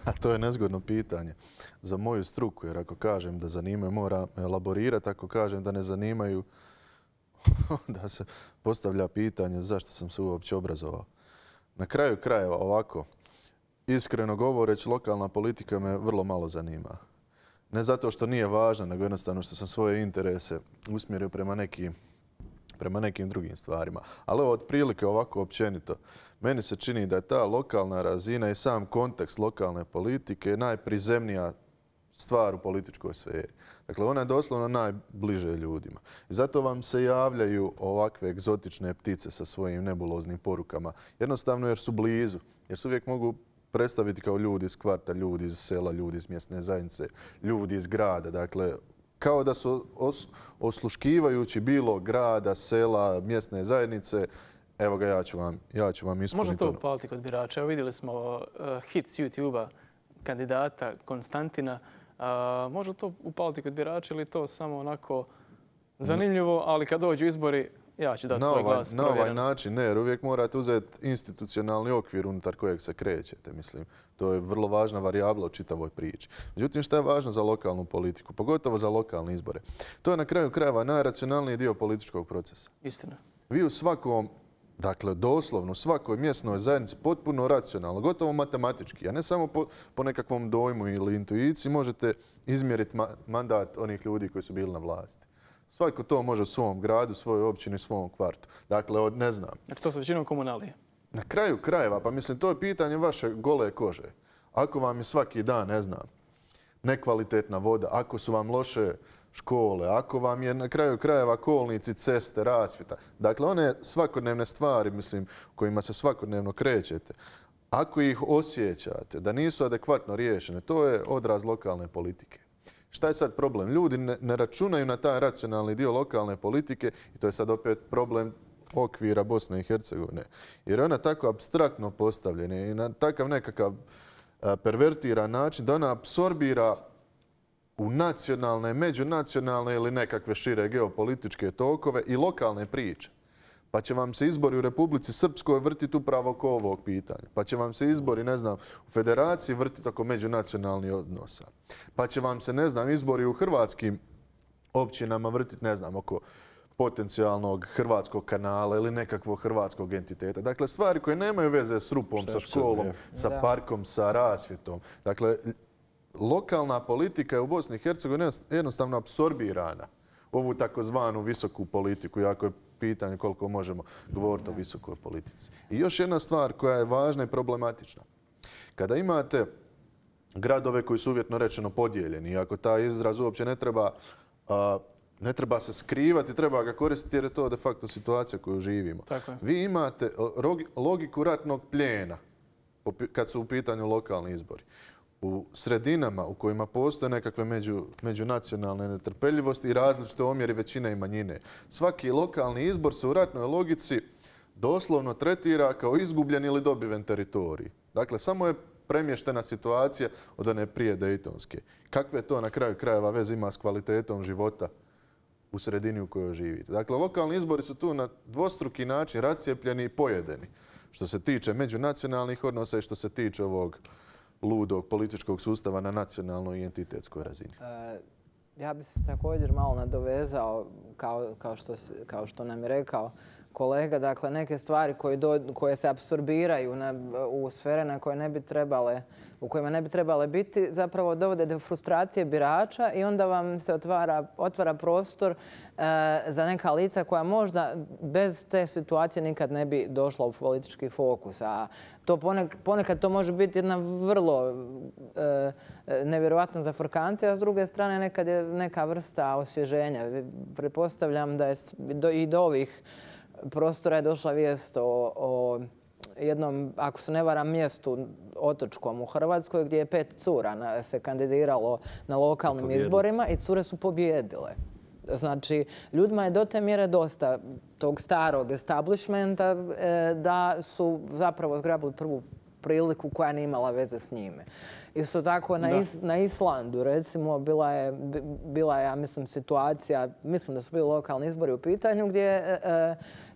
A to je nezgodno pitanje za moju struku, jer ako kažem da zanimaju, moram elaborirati. Ako kažem da ne zanimaju, da se postavlja pitanje zašto sam se uopće obrazovao. Na kraju krajeva ovako, iskreno govoreći, lokalna politika me vrlo malo zanima. Ne zato što nije važna, nego jednostavno što sam svoje interese usmjerio prema nekim drugim stvarima. Ali ovo otprilike ovako općenito. Meni se čini da je ta lokalna razina i sam kontekst lokalne politike najprizemnija stvar u političkoj sferi. Dakle, ona je doslovno najbliže ljudima. I zato vam se javljaju ovakve egzotične ptice sa svojim nebuloznim porukama. Jednostavno jer su blizu, jer se uvijek mogu predstaviti kao ljudi iz kvarta, ljudi iz sela, ljudi iz mjesne zajednice, ljudi iz grada. Dakle, kao da su osluškivajući bilo grada, sela, mjesne zajednice, evo ga, ja ću vam ispuniti. Može to upaliti kod birača? Evo vidjeli smo hit s YouTube-a kandidata Konstantina. Može to upaliti kod birača ili to samo onako zanimljivo, ali kad dođu izbori, ja ću dati svoj glas provjeren. Na ovaj način ne, jer uvijek morate uzeti institucionalni okvir unutar kojeg se krećete. Mislim, to je vrlo važna varijabla u čitavoj priči. Međutim, što je važno za lokalnu politiku, pogotovo za lokalne izbore? To je na kraju krajeva najracionalniji dio političkog procesa. Istina. Vi u svakom, dakle doslovno u svakoj mjesnoj zajednici potpuno racionalno, gotovo matematički, a ne samo po nekakvom dojmu ili intuiciji možete izmjeriti mandat onih ljudi koji su bili na vlasti. Svako to može u svom gradu, svojoj općini, svom kvartu. Dakle, ne znam. Znači to su većinom komunalije? Na kraju krajeva, pa mislim, to je pitanje vaše gole kože. Ako vam je svaki dan, ne znam, nekvalitetna voda, ako su vam loše škole, ako vam je na kraju krajeva kolnici, ceste, rasvjeta. Dakle, one svakodnevne stvari, mislim, kojima se svakodnevno krećete, ako ih osjećate da nisu adekvatno riješene, to je odraz lokalne politike. Šta je sad problem? Ljudi ne računaju na taj racionalni dio lokalne politike i to je sad opet problem okvira Bosne i Hercegovine. Jer je ona tako apstraktno postavljena i na takav nekakav pervertiran način da ona apsorbira u nacionalne, međunacionalne ili nekakve šire geopolitičke tokove i lokalne priče. Pa će vam se izbori u Republici Srpskoj vrtiti upravo oko ovog pitanja. Pa će vam se izbori, ne znam, u Federaciji vrtiti oko međunacionalnih odnosa. Pa će vam se, ne znam, izbori u hrvatskim općinama vrtiti, ne znam, oko potencijalnog hrvatskog kanala ili nekakvog hrvatskog entiteta. Dakle, stvari koje nemaju veze s rupom, sa školom, sa parkom, sa rasvjetom. Dakle, lokalna politika je u Bosni i Hercegovini jednostavno apsorbirana u ovu takozvanu visoku politiku, jako je pitanje koliko možemo govoriti o visokoj politici. I još jedna stvar koja je važna i problematična. Kada imate gradove koji su uvjetno rečeno podijeljeni, ako taj izraz uopće ne treba se skrivati, treba ga koristiti jer je to de facto situacija koju živimo. Vi imate logiku ratnog plijena kad su u pitanju lokalni izbori. U sredinama u kojima postoje nekakve međunacionalne netrpeljivosti i različite omjeri većine i manjine. Svaki lokalni izbor se u ratnoj logici doslovno tretira kao izgubljen ili dobiven teritorij. Dakle, samo je premještena situacija od one prije Dejtonske. Kakve to na kraju krajeva veze ima s kvalitetom života u sredini u kojoj živite? Dakle, lokalni izbori su tu na dvostruki način rascijepljeni i pojedeni. Što se tiče međunacionalnih odnosa i što se tiče ovog ludog političkog sustava na nacionalnoj i entitetskoj razini. Ja bih se također malo nadovezao, kao što nam je rekao kolega, dakle neke stvari koje se apsorbiraju u sfere na koje ne bi trebale, u kojima ne bi trebale biti, zapravo dovode do frustracije birača i onda vam se otvara prostor za neka lica koja možda bez te situacije nikad ne bi došla u politički fokus. A to ponekad to može biti jedna vrlo nevjerojatna zafrkancija, a s druge strane nekad je neka vrsta osvježenja. Pretpostavljam da je i do ovih prostora je došla vijest o jednom, ako se ne varam, mjestu otočkom u Hrvatskoj gdje je 5 cura se kandidiralo na lokalnim izborima i cure su pobjedile. Znači, ljudima je do te mjere dosta tog starog establishmenta da su zapravo zgrabili prvu priliku koja nije imala veze s njime. Isto tako na Islandu, recimo, bila je, ja mislim, situacija, mislim da su bili lokalni izbori u pitanju gdje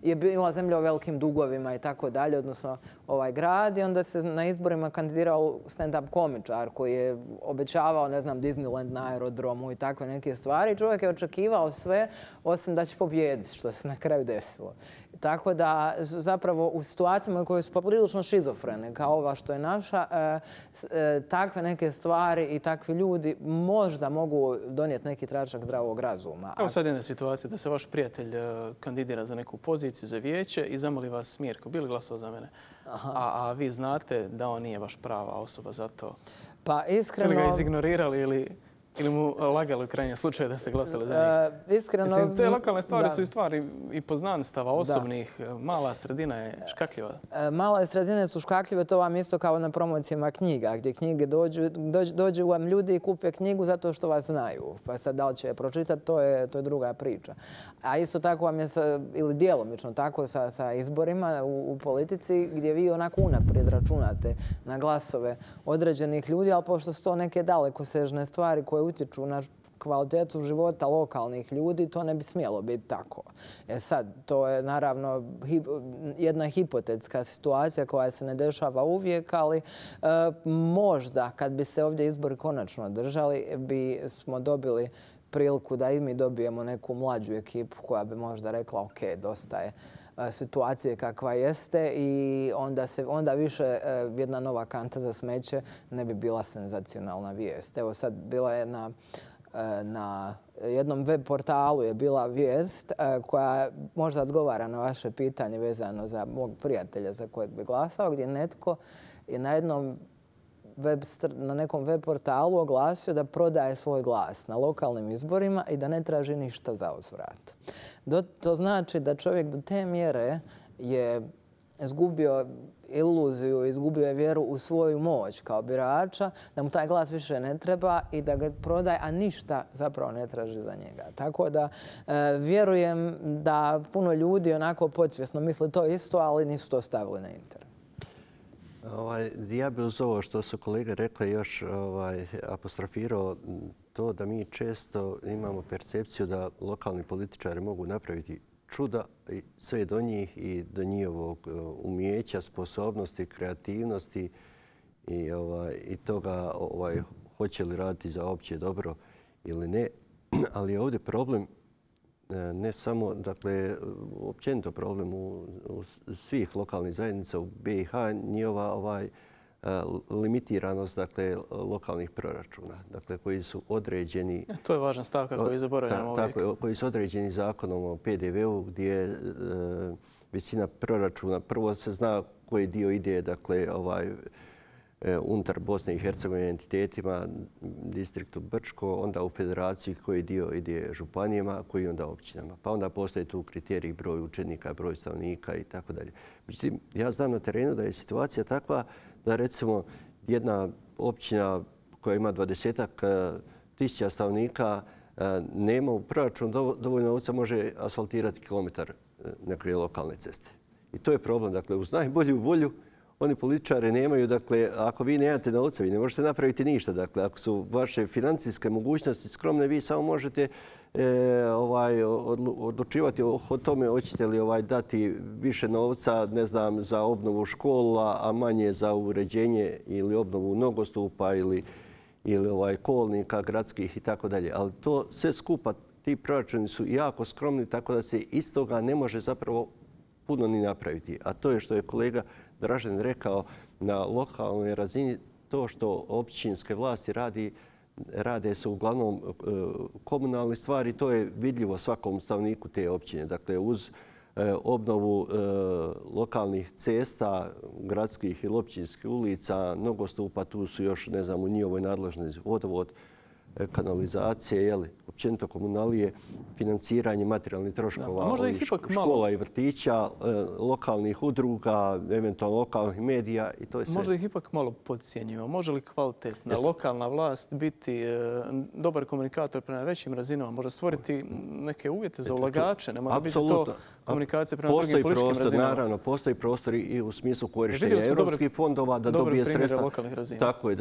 je bila zemlja u velikim dugovima i tako dalje, odnosno ovaj grad, i onda se na izborima kandidirao stand-up komičar koji je obećavao, ne znam, Disneyland na aerodromu i takve neke stvari. Čovjek je očekivao sve osim da će pobijediti, što se na kraju desilo. Tako da zapravo u situacijama koje su poprilično šizofrene, kao ova što je naša, takve neke stvari i takvi ljudi možda mogu donijeti neki tračak zdravog razuma. Evo sad jedna situacija da se vaš prijatelj kandidira za neku poziciju za vijeće i zamoli vas: Mirko, bi li glasao za mene? A vi znate da on nije baš prava osoba za to. Pa iskreno... Ili ga izignorirali ili mu lagali u krajnjem slučaju da ste glasali za njega? Iskreno... Mislim, te lokalne stvari su i stvari i poznanstava osobnih. Mala sredina je škakljiva. Male sredine su škakljive, to vam isto kao na promocijama knjiga, gdje knjige dođu vam ljudi i kupe knjigu zato što vas znaju. Pa sad da li će je pročitati, to je druga priča. A isto tako vam je, ili djelomično tako sa izborima u politici, gdje vi onako unaprijed računate na glasove određenih ljudi, ali pošto su to neke dalekosežne stvari koje utječu na kvalitetu života lokalnih ljudi, to ne bi smjelo biti tako. Sad, to je naravno jedna hipotetska situacija koja se ne dešava uvijek, ali možda kad bi se ovdje izbori konačno održali, bi smo dobili priliku da i mi dobijemo neku mlađu ekipu koja bi možda rekla: ok, dosta je situacije kakva jeste, i onda više jedna nova kanta za smeće ne bi bila senzacionalna vijest. Evo sad bila je na jednom web portalu je bila vijest koja možda odgovara na vaše pitanje vezano za mog prijatelja za kojeg bi glasao, gdje netko je na nekom web portalu oglasio da prodaje svoj glas na lokalnim izborima i da ne traži ništa za uzvrat. To znači da čovjek do te mjere je izgubio iluziju, izgubio je vjeru u svoju moć kao birača, da mu taj glas više ne treba i da ga prodaje, a ništa zapravo ne traži za njega. Tako da vjerujem da puno ljudi onako podsvjesno misle to isto, ali nisu to stavili na internet. Ja bih uz ovo što su kolege rekli još apostrofirao to da mi često imamo percepciju da lokalni političari mogu napraviti čuda i sve do njih i do njihovog umijeća, sposobnosti, kreativnosti i toga hoće li raditi za opće dobro ili ne. Ali je ovdje problem ne samo, dakle, općenito problem u svih lokalnih zajednica u BiH, njihova limitiranost, dakle, lokalnih proračuna, dakle, koji su određeni... To je važna stavka koju zaboravljamo uvijek. Tako, koji su određeni zakonom o PDV-u, gdje visina proračuna, prvo se zna koji dio ide, dakle, unutar Bosne i Hercegovine entitetima, distriktu Brčko, onda u federaciji koji dio ide županijama, koji onda općinama. Pa onda postoje tu kriteriji broj učenika, broj stanovnika i tako dalje. Međutim, ja znam na terenu da je situacija takva da recimo jedna općina koja ima 20 tisuća stanovnika nema u proračunu dovoljno novca, može asfaltirati kilometar neke lokalne ceste. I to je problem. Dakle, uz najbolju volju oni političari nemaju, dakle, ako vi nemate novca, vi ne možete napraviti ništa. Dakle, ako su vaše financijske mogućnosti skromne, vi samo možete odlučivati o tome hoćete li dati više novca, ne znam, za obnovu škola, a manje za uređenje ili obnovu nogostupa ili kolnika gradskih i tako dalje. Ali to sve skupa, ti proračuni su jako skromni, tako da se iz toga ne može zapravo puno ni napraviti. A to je što je kolega Dražen rekao, na lokalnoj razini to što općinske vlasti rade su uglavnom komunalne stvari. To je vidljivo svakom stanovniku te općine. Dakle, uz obnovu lokalnih cesta, gradskih ili općinskih ulica, nogostupa, tu su još, ne znam, u njihovoj nadležnosti vodovod, kanalizacije, općenito komunalije, financiranje materijalnih troškova škola i vrtića, lokalnih udruga, eventualno lokalnih medija i to je sve. Možda ih ipak malo podcjenjujemo. Može li kvalitetna lokalna vlast biti dobar komunikator prema većim razinama? Možda stvoriti neke uvjete za ulagače? Ne mora biti to komunikacija prema drugim političkim razinama. Naravno, postoji prostor i u smislu korištenja europskih fondova da dobije sredstva. Tako je,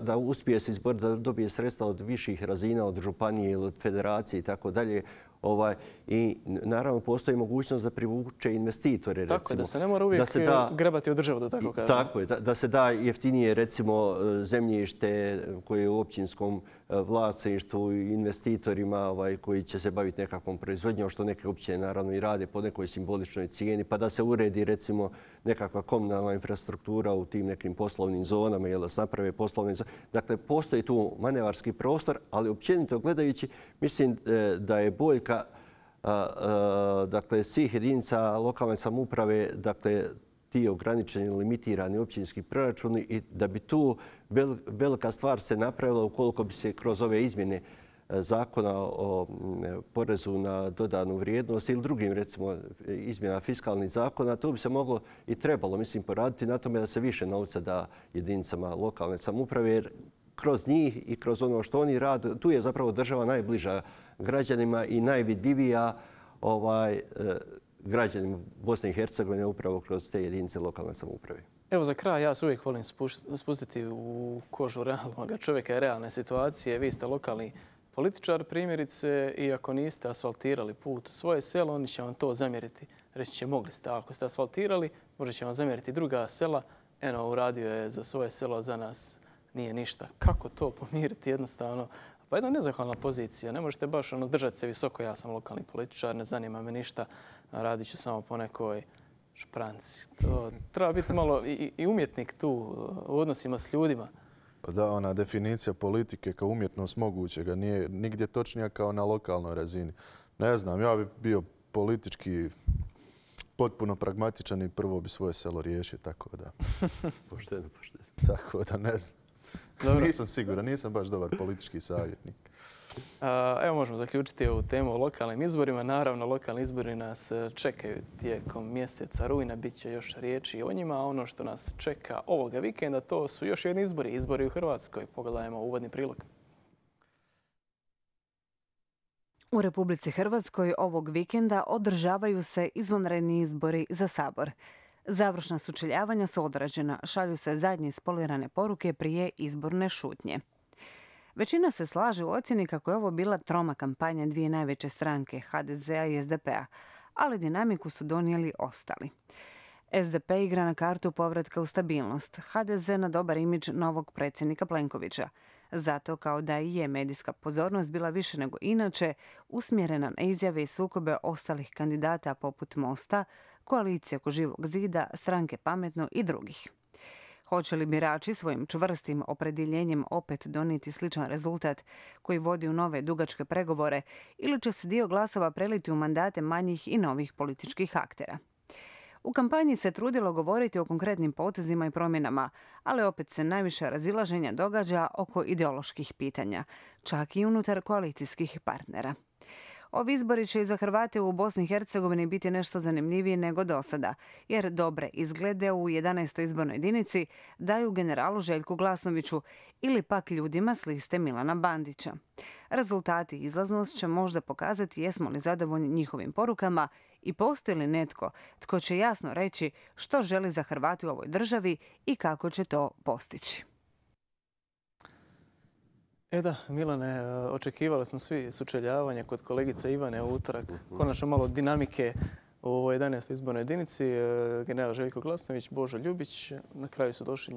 da uspije se izboriti, da dobije sredstva od viših razina, od županije ili od federacije i tako dalje. I naravno postoji mogućnost da privuče investitore. Tako je, da se ne mora uvijek grebati od države, da tako kažem. Tako je, da se da jeftinije recimo zemljište koje je u općinskom vlasništvu investitorima koji će se baviti nekakvom proizvodnjom, što neke općine naravno i rade po nekoj simboličnoj cijeni, pa da se uredi recimo nekakva komunalna infrastruktura u tim nekim poslovnim zonama ili da se naprave poslovne zone. Dakle, postoji tu manevarski prostor, ali općenito gledajući mislim da je boljka svih jedinica lokalne samouprave, dakle, ti ograničeni, limitirani općinski proračuni i da bi tu velika stvar se napravila ukoliko bi se kroz ove izmjene zakona o porezu na dodanu vrijednost ili drugim, recimo, izmjena fiskalnih zakona, to bi se moglo i trebalo, mislim, poraditi na tome da se više novca da jedinicama lokalne samouprave, jer kroz njih i kroz ono što oni rade, tu je zapravo država najbliža građanima i najvidljivija građanima Bosne i Hercegovine upravo kroz te jedinice lokalne samouprave. Evo za kraj, ja se uvijek volim spustiti u kožu realnog čovjeka i realne situacije. Vi ste lokalni političar, primjerice, i ako niste asfaltirali put u svoje selo, oni će vam to zamjeriti. Reći će, mogli ste. Ako ste asfaltirali, možda će vam zamjeriti druga sela. Eno, uradio je za svoje selo, za nas nije ništa. Kako to pomiriti jednostavno? Pa jedna nezahvalna pozicija. Ne možete baš držati se visoko. Ja sam lokalni političar, ne zanima me ništa. Radit ću samo po nekoj špranci. To treba biti malo i umjetnik tu u odnosima s ljudima. Da, ona definicija politike kao umjetnost mogućega nije nigdje točnija kao na lokalnoj razini. Ne znam, ja bi bio politički potpuno pragmatičan i prvo bi svoje selo riješio, tako da. Pošteno. Tako da ne znam. Dobro. Nisam siguran, nisam baš dobar politički savjetnik. Evo možemo zaključiti ovu temu o lokalnim izborima. Naravno, lokalni izbori nas čekaju tijekom mjeseca rujna. Biće još riječi o njima. A ono što nas čeka ovoga vikenda, to su još jedni izbori. Izbori u Hrvatskoj. Pogledajmo uvodni prilog. U Republici Hrvatskoj ovog vikenda održavaju se izvanredni izbori za Sabor. Završna sučeljavanja su odrađena, šalju se zadnje ispolirane poruke prije izborne šutnje. Većina se slaže u ocjeni kako je ovo bila troma kampanja dvije najveće stranke, HDZ-a i SDP-a, ali dinamiku su donijeli ostali. SDP igra na kartu povratka u stabilnost, HDZ na dobar imidž novog predsjednika Plenkovića. Zato, kao da i je medijska pozornost bila više nego inače usmjerena na izjave i sukobe ostalih kandidata poput Mosta, koalicije oko Živog zida, stranke Pametno i drugih. Hoće li birači svojim čvrstim opredjeljenjem opet donijeti sličan rezultat koji vodi u nove dugačke pregovore ili će se dio glasova preliti u mandate manjih i novih političkih aktera? U kampanji se trudilo govoriti o konkretnim potezima i promjenama, ali opet se najviše razilaženja događa oko ideoloških pitanja, čak i unutar koalicijskih partnera. Ovi izbori će i za Hrvate u Bosni i Hercegovini biti nešto zanimljivije nego do sada, jer dobre izglede u 11. izbornoj jedinici daju generalu Željku Glasnoviću ili pak ljudima s liste Milana Bandića. Rezultati i izlaznost će možda pokazati jesmo li zadovoljni njihovim porukama i postoji li netko tko će jasno reći što želi za Hrvate u ovoj državi i kako će to postići. Da, Milane, očekivali smo svi sučeljavanje kod kolegice Ivane u utorak. Konačno malo dinamike u ovoj 11. izbornoj jedinici. General Željko Glasnović, Božo Ljubić. Na kraju su došli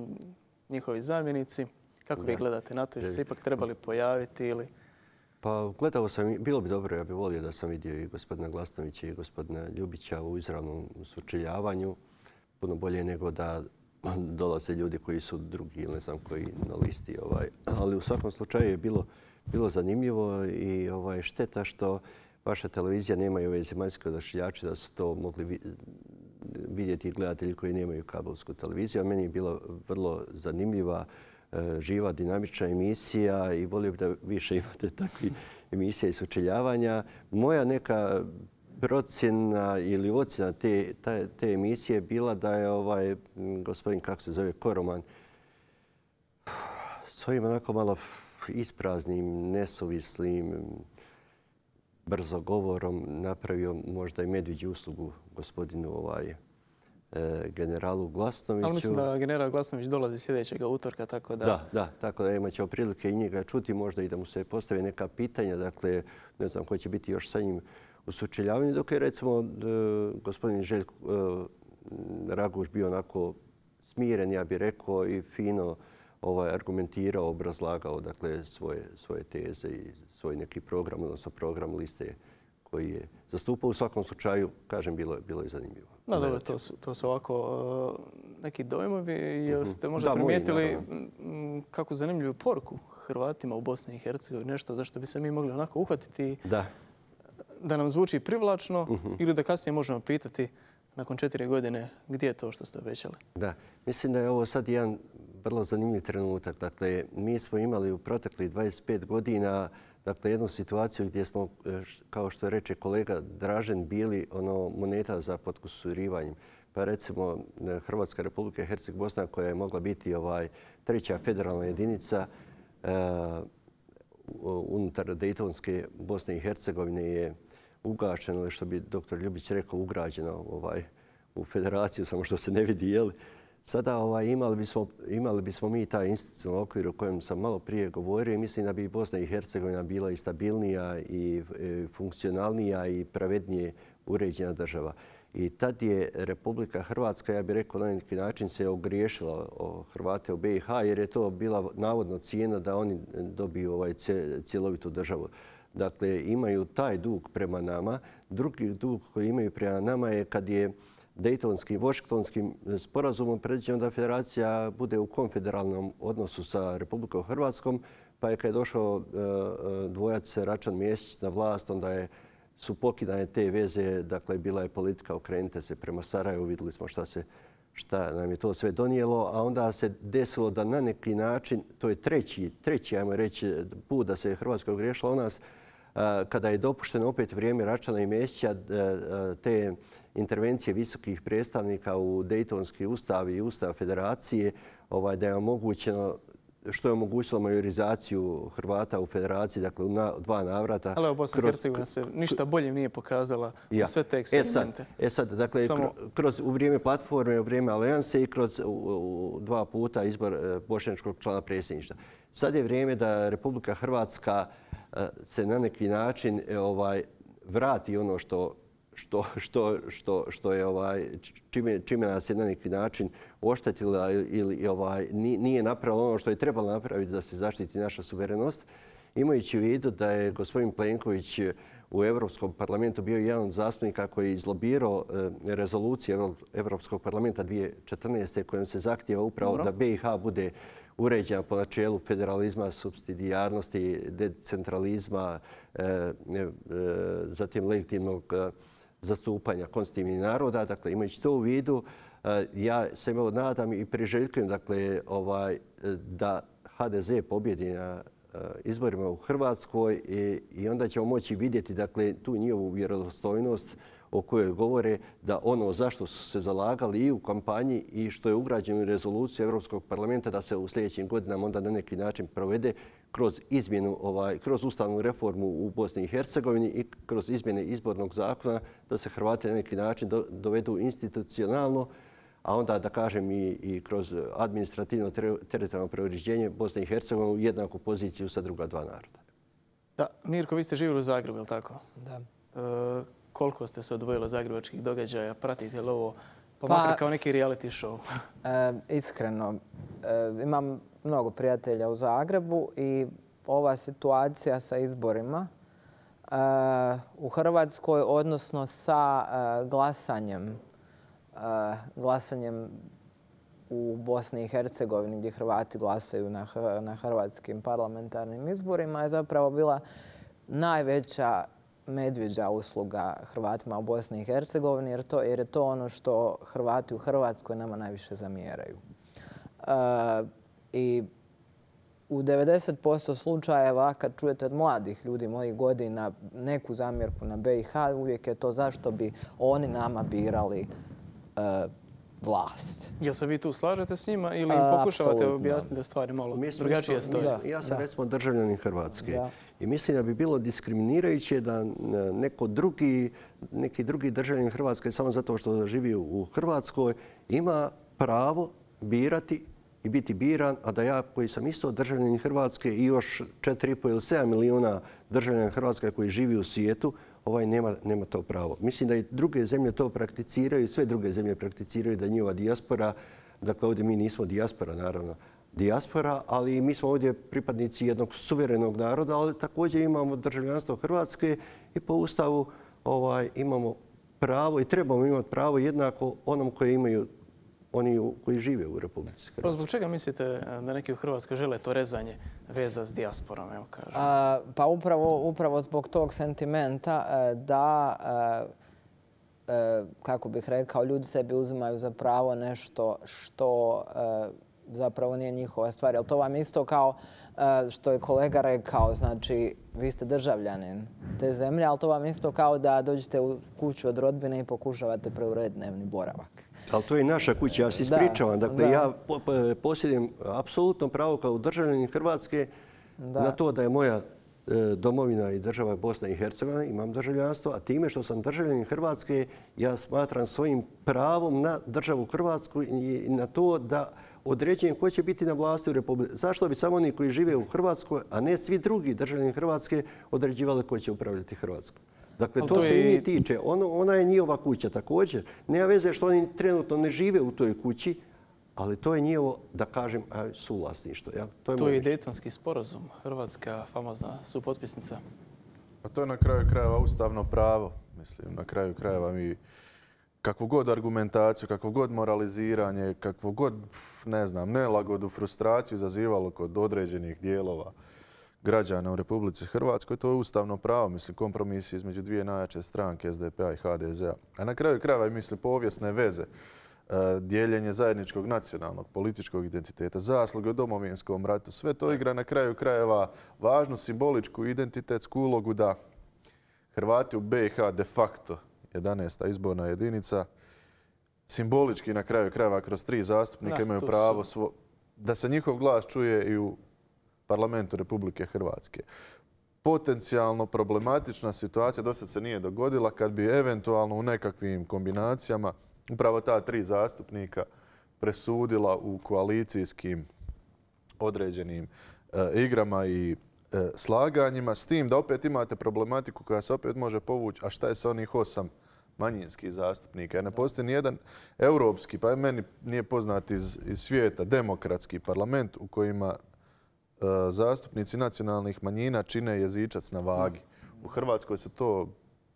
njihovi zamjenici. Kako vi gledate na to? Jeste se ipak trebali pojaviti ili... Pa gledao sam, bilo bi dobro, ja bih volio da sam vidio i gospodina Glasnovića i gospodina Ljubića u izravnom sučeljavanju. Puno bolje nego da dolaze ljudi koji su drugi ili ne znam koji na listi. Ali u svakom slučaju je bilo zanimljivo i šteta što vaša televizija nema i ove zemaljske odašiljače da su to mogli vidjeti gledatelji koji nemaju kabelsku televiziju. A meni je bila vrlo zanimljiva, živa, dinamična emisija i volio bih da više imate takvih emisija i sučeljavanja. Moja neka procjena ili ocjena te emisije je bila da je gospodin, kako se zove, Koroman, svojim onako malo ispraznim, nesuvislim, brzogovorom napravio možda i medvjeđu uslugu gospodinu generalu Glasnoviću. Ali mislim da general Glasnović dolazi sljedećeg utorka, tako da... Da, tako da imat ćemo prilike i njega čuti, možda i da mu se postave neka pitanja. Dakle, ne znam ko će biti još sa njim u sučeljavanju, dok je recimo gospodin Željko Raguž bio onako smiren, ja bih rekao, i fino argumentirao, obrazlagao dakle, svoje teze i svoj neki program, odnosno program liste koji je zastupao. U svakom slučaju, kažem, bilo je zanimljivo. Da, dobro, to su ovako neki dojmovi. Jeste možda primijetili kakvu zanimljivu poruku Hrvatima u Bosni i Hercegovini, nešto za što bi se mi mogli onako uhvatiti da nam zvuči privlačno ili da kasnije možemo pitati nakon 4 godine gdje je to što ste obećali? Da, mislim da je ovo sad jedan vrlo zanimljiv trenutak. Dakle, mi smo imali u proteklih 25 godina jednu situaciju gdje smo, kao što reče kolega Dražen, bili moneta za potkusurivanjem. Pa recimo Hrvatska Republika Herceg Bosna, koja je mogla biti treća federalna jedinica unutar Dejtonske Bosne i Hercegovine, je ugašeno, ili što bi dr. Ljubić rekao, ugrađeno u federaciju, samo što se ne vidi, jel? Sada imali bismo mi taj institucionalni okvir o kojem sam malo prije govorio i mislim da bi Bosna i Hercegovina bila i stabilnija i funkcionalnija i pravednije uređena država. I tad je Republika Hrvatska, ja bih rekao, na neki način se ogriješila o Hrvate u BiH, jer je to bila navodno cijena da oni dobiju cjelovitu državu. Dakle, imaju taj dug prema nama. Drugi dug koji imaju prema nama je kad je Dejtonskim, Washingtonskim sporazumom predviđeno da federacija bude u konfederalnom odnosu sa Republikom Hrvatskom, pa je kad je došao dvojac Račan Mesić na vlast, onda su pokidane te veze. Dakle, bila je politika okrenite se prema Sarajevu, vidjeli smo šta nam je to sve donijelo, a onda se desilo da na neki način, to je treći, ajmo reći, put da se Hrvatska ogriješila o nas, kada je dopušteno opet vrijeme Račana i Mesića, te intervencije visokih predstavnika u Dejtonski ustav i ustav federacije, da je omogućeno, što je omogućilo majorizaciju Hrvata u federaciji, dakle u 2 navrata. Ali Bosna i Hercegovina se ništa bolje nije pokazala u sve te eksperimente. Sad, dakle, u vrijeme platforme, u vrijeme alijanse i kroz 2 puta izbor bošnjačkog člana predsjedništva. Sad je vrijeme da Republika Hrvatska se na neki način vrati ono što je čime nas je na neki način oštetila ili nije napravila ono što je trebalo napraviti da se zaštiti naša suverenost. Imajući u vidu da je gospodin Plenković u Europskom parlamentu bio jedan od zastupnika koji je izlobirao rezoluciju Europskog parlamenta 2014. kojom se zahtijeva upravo da BiH bude uređena po načelu federalizma, supsidijarnosti, decentralizma, zatim legitimnog zastupanja konstitutivnih naroda. Dakle, imajući to u vidu, ja se nadam i priželjkujem da HDZ pobjedi na izborima u Hrvatskoj i onda ćemo moći vidjeti tu njihovu vjerodostojnost o kojoj govore da ono zašto su se zalagali i u kampanji i što je ugrađeno u rezoluciju Europskog parlamenta da se u sljedećim godinama onda na neki način provede kroz izmjenu, kroz ustavnu reformu u Bosni i Hercegovini i kroz izmjene izbornog zakona da se Hrvati na neki način dovedu institucionalno, a onda da kažem i kroz administrativno teritorijalno preuređenje Bosne i Hercegovine u jednaku poziciju sa druga dva naroda. Da, Mirko, vi ste živjeli u Zagrebu, je li tako? Da. Koliko ste se odvojili od zagrebačkih događaja? Pratite li ovo pa makar kao neki reality show? Iskreno, imam mnogo prijatelja u Zagrebu i ova situacija sa izborima u Hrvatskoj, odnosno sa glasanjem u Bosni i Hercegovini gdje Hrvati glasaju na hrvatskim parlamentarnim izborima je zapravo bila najveća medvjeđa usluga Hrvatima u Bosni i Hercegovini jer je to ono što Hrvati u Hrvatskoj nama najviše zamjeraju. I u 90% slučajeva kad čujete od mladih ljudi mojih godina neku zamjerku na BiH, uvijek je to zašto bi oni nama birali vlast. Jel se vi tu slažete s njima ili im pokušavate objasniti da stvari malo drugačije stoje? Ja sam recimo državljanin Hrvatske i mislim da bi bilo diskriminirajuće da neki drugi državljanin Hrvatske samo zato što živi u Hrvatskoj ima pravo birati i biti biran, a da ja koji sam isto državljanin Hrvatske i još 4,5 ili 7 milijuna državljana Hrvatske koji živi u svijetu, nema to pravo. Mislim da i druge zemlje to prakticiraju, sve druge zemlje prakticiraju da je njihova dijaspora, dakle ovdje mi nismo dijaspora, naravno, dijaspora, ali mi smo ovdje pripadnici jednog suverenog naroda, ali također imamo državljanstvo Hrvatske i po Ustavu imamo pravo i trebamo imati pravo jednako onom koje imaju oni koji žive u Republici Hrvatskoj. Zbog čega mislite da neki u Hrvatskoj žele to rezanje veza s dijasporom? Pa upravo zbog tog sentimenta da, kako bih rekao, ljudi sebi uzimaju za pravo nešto što zapravo nije njihova stvar. Jel to vam isto kao što je kolega rekao, znači vi ste državljanin te zemlje, ali to vam isto kao da dođete u kuću od rodbine i pokušavate preurediti dnevni boravak. Ali to je naša kuća, ja se ispričavam. Dakle, ja posjedujem apsolutno pravo kao državljanin Hrvatske na to da je moja domovina i država Bosna i Hercegovina, imam državljanstvo, a time što sam državljanin Hrvatske, ja smatram svojim pravom na državu Hrvatsku i na to da određujem ko će biti na vlasti u Republici. Zašto bi samo oni koji žive u Hrvatskoj, a ne svi drugi državljani Hrvatske, određivali ko će upravljati Hrvatskom? Dakle, to se i njih tiče. Ona je njihova kuća također. Nema veze što oni trenutno ne žive u toj kući, ali to je njihovo, da kažem, suvlasništvo. To je i Dejtonski sporazum. Hrvatska famozna supotpisnica. A to je na kraju krajeva ustavno pravo. Mislim, na kraju krajeva mi kakvu god argumentaciju, kakvo god moraliziranje, kakvo god, ne znam, nelagodu, frustraciju zazivalo kod određenih dijelova građana u Republici Hrvatskoj, to je ustavno pravo, mislim, kompromis između dvije najjače stranke, SDP-a i HDZ-a. A na kraju krajeva, mislim, povijesne veze, dijeljenje zajedničkog nacionalnog političkog identiteta, zasluge u Domovinskom ratu, sve to igra na kraju krajeva važnu simboličku identitetsku ulogu da Hrvati u BiH de facto 11. izborna jedinica simbolički na kraju krajeva kroz 3 zastupnika imaju pravo da se njihov glas čuje i u Parlamentu Republike Hrvatske. Potencijalno problematična situacija do sad se nije dogodila kad bi eventualno u nekakvim kombinacijama upravo ta 3 zastupnika presudila u koalicijskim određenim igrama i slaganjima, s tim da opet imate problematiku koja se opet može povući, a šta je sa onih 8 manjinskih zastupnika. Jer ne postoji nijedan europski, pa meni nije poznat iz svijeta, demokratski parlament u kojima zastupnici nacionalnih manjina čine jezičac na vagi. U Hrvatskoj se to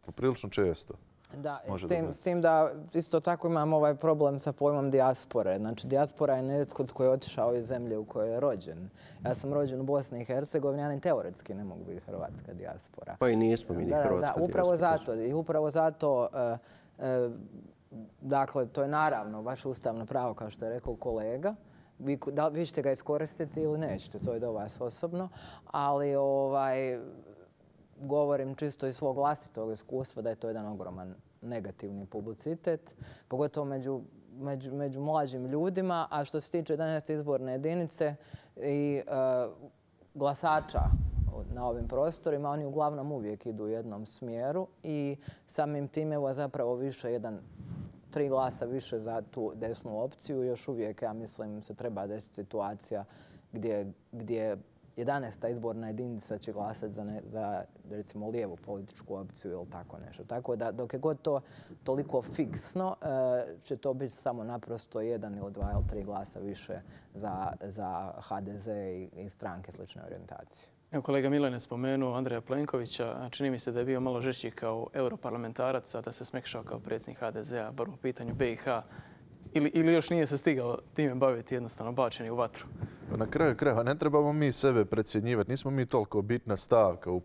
poprilično često Da, može s tim da isto tako imamo ovaj problem sa pojmom dijaspore. Znači, dijaspora je netko tko je otišao iz zemlje u kojoj je rođen. Ja sam rođen u Bosni i Hercegovini, ja ni teoretski ne mogu biti hrvatska dijaspora. Pa i nismo mi ni hrvatska dijaspora. Da, upravo zato, dakle, to je naravno vaše ustavno pravo, kao što je rekao kolega. Vi ćete ga iskoristiti ili nećete, to je do vas osobno, ali govorim čisto iz svog vlastitog iskustva da je to jedan ogroman negativni publicitet, pogotovo među mlađim ljudima. A što se tiče 11. izborne jedinice i glasača na ovim prostorima, oni uglavnom uvijek idu u jednom smjeru i samim time evo zapravo više 3 glasa više za tu desnu opciju. Još uvijek, ja mislim, se treba desiti situacija gdje 11. izborna jedinica će glasati za recimo lijevu političku opciju ili tako nešto. Tako da dok je god to toliko fiksno, će to biti samo naprosto 1 ili 2 ili 3 glasa više za HDZ i stranke slične orijentacije. Evo, kolega Milan je spomenuo Andreja Plenkovića. Čini mi se da je bio malo žešći kao europarlamentarac, a da se smekšao kao predsjednik HDZ-a, bar u pitanju BiH. Ili još nije se stigao time baviti, jednostavno bačeni u vatru? Na kraju krajeva ne trebamo mi sebe precjenjivati. Nismo mi toliko bitna stavka u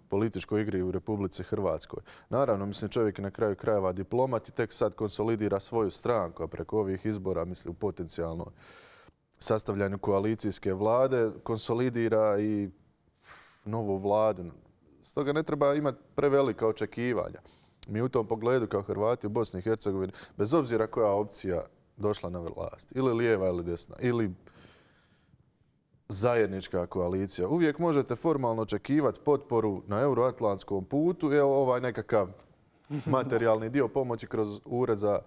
političkoj igri u Republici Hrvatskoj. Naravno, mislim, čovjek je na kraju krajeva diplomat i tek sad konsolidira svoju stranku, a preko ovih izbora, mislim, u potencijalno sastavljanju koalicijske vlade, konsolidira i novu vladu. Stoga ne treba imati prevelika očekivanja. Mi u tom pogledu kao Hrvati u Bosni i Hercegovini, bez obzira koja opcija došla na vlast, ili lijeva ili desna, ili zajednička koalicija, uvijek možete formalno očekivati potporu na euroatlantskom putu i ovaj nekakav materijalni dio pomoći kroz Ured za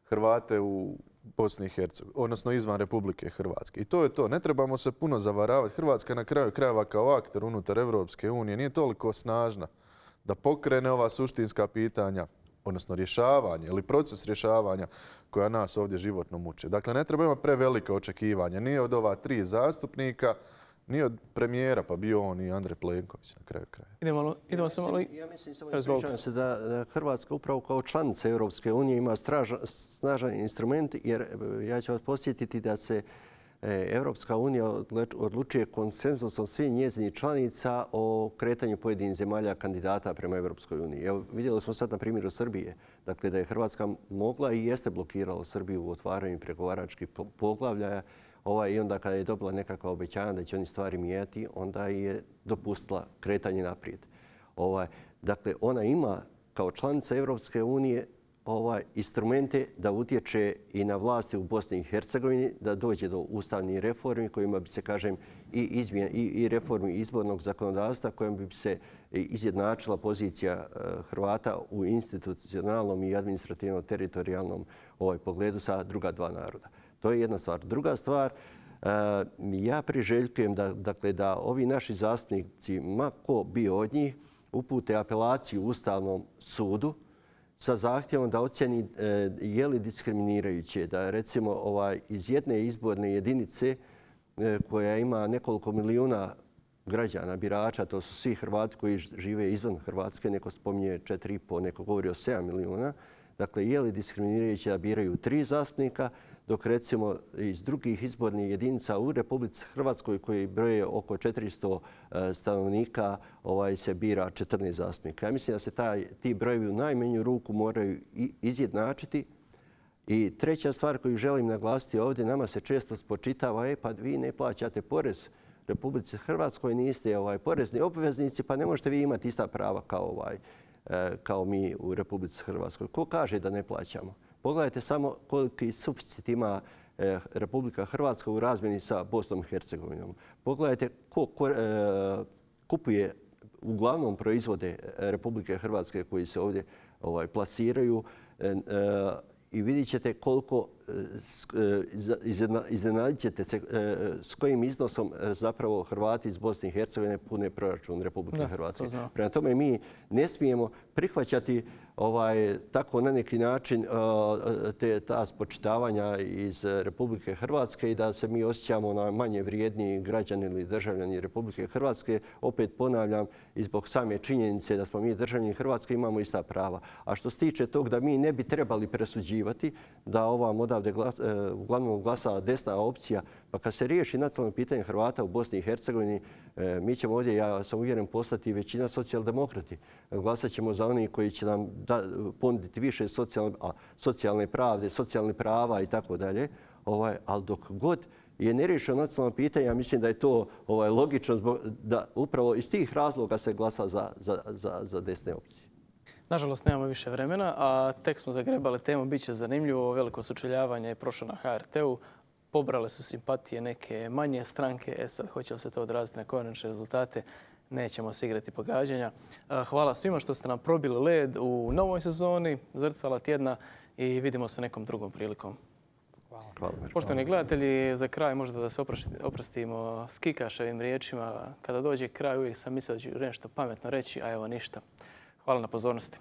Hrvate u Bosni i Hercegovini, odnosno izvan Republike Hrvatske. I to je to. Ne trebamo se puno zavaravati. Hrvatska na kraju krajeva kao akter unutar Europske unije nije toliko snažna da pokrene ova suštinska pitanja, odnosno rješavanje ili proces rješavanja koja nas ovdje životno muče. Dakle, ne treba imati prevelike očekivanja ni od ova 3 zastupnika, ni od premijera, pa bio on i Andrej Plenković na kraju kraja. Idemo se malo... Ja mislim samo da Hrvatska upravo kao članica Europske unije ima snažan instrument, jer ja ću vas posjetiti da se Europska unija odlučuje konsenzusom svih njezinih članica o kretanju pojedinih zemalja kandidata prema Europskoj uniji. Evo, vidjeli smo sad na primjeru Srbije, dakle da je Hrvatska mogla i jeste blokirala Srbiju u otvaranju pregovaračkih poglavlja i onda kada je dobila nekakva obećanja da će oni stvari mijenjati, onda je dopustila kretanje naprijed. Dakle, ona ima kao članica Europske unije instrumente da utječe i na vlasti u Bosni i Hercegovini, da dođe do ustavnih reformi kojima bi se, kažem, i reformi izbornog zakonodavstva kojim bi se izjednačila pozicija Hrvata u institucionalnom i administrativno-teritorijalnom pogledu sa druga 2 naroda. To je jedna stvar. Druga stvar, ja priželjkujem da ovi naši zastupnici, ma ko bio od njih, upute apelaciju Ustavnom sudu sa zahtjevom da ocjeni je li diskriminirajuće da recimo iz jedne izborne jedinice koja ima nekoliko milijuna građana, birača, to su svi Hrvati koji žive izvan Hrvatske, neko spominje 4,5, neko govori o 7 milijuna. Dakle, je li diskriminirajuće da biraju 3 zastupnika, dok recimo iz drugih izbornih jedinica u Republici Hrvatskoj koji broje oko 400 stanovnika se bira 14 zastupnika. Ja mislim da se ti brojevi u najmanju ruku moraju izjednačiti. I treća stvar koju želim naglasiti ovdje, nama se često spočitava, pa vi ne plaćate porez Republici Hrvatskoj, niste porezni obveznici, pa ne možete vi imati ista prava kao mi u Republici Hrvatskoj. Ko kaže da ne plaćamo? Pogledajte samo koliki suficit ima Republika Hrvatska u razmjeni sa Bosnom i Hercegovinom. Pogledajte ko kupuje uglavnom proizvode Republike Hrvatske koji se ovdje plasiraju i vidjet ćete koliko iznenadit ćete se s kojim iznosom zapravo Hrvati iz Bosne i Hercegovine pune proračun Republike Hrvatske. Prema tome mi ne smijemo prihvaćati tako na neki način ta spočitavanja iz Republike Hrvatske i da se mi osjećamo na manje vrijedniji građani ili državljani Republike Hrvatske. Opet ponavljam, i zbog same činjenice da smo mi državljani Hrvatske imamo ista prava. A što se tiče tog da mi ne bi trebali presuđivati, da ovam odavde uglavnom glasa desna opcija, pa kad se riješi nacionalno pitanje Hrvata u Bosni i Hercegovini, mi ćemo ovdje, ja sam uvjeren, postati većina socijaldemokrati. Glasat ćemo za oni koji će nam ponuditi više socijalne pravde, socijalne prava i tako dalje. Ali dok god je neriješeno nacionalno pitanje, ja mislim da je to logično da upravo iz tih razloga se glasa za desne opcije. Nažalost, nemamo više vremena, a tek smo zagrebali temu. Biće zanimljivo, veliko sučeljavanje je prošlo na HRT-u. Pobrale su simpatije neke manje stranke. Sad, hoće li se to odraziti na konačne rezultate? Nećemo se igrati pogađanja. Hvala svima što ste nam probili led u novoj sezoni Zrcala tjedna i vidimo se nekom drugom prilikom. Hvala. Poštovani gledatelji, za kraj možda da se oprostimo s Kikaševim riječima. Kada dođe kraj uvijek sam mislio da ću nešto pametno reći, a evo ništa. Hvala na pozornosti.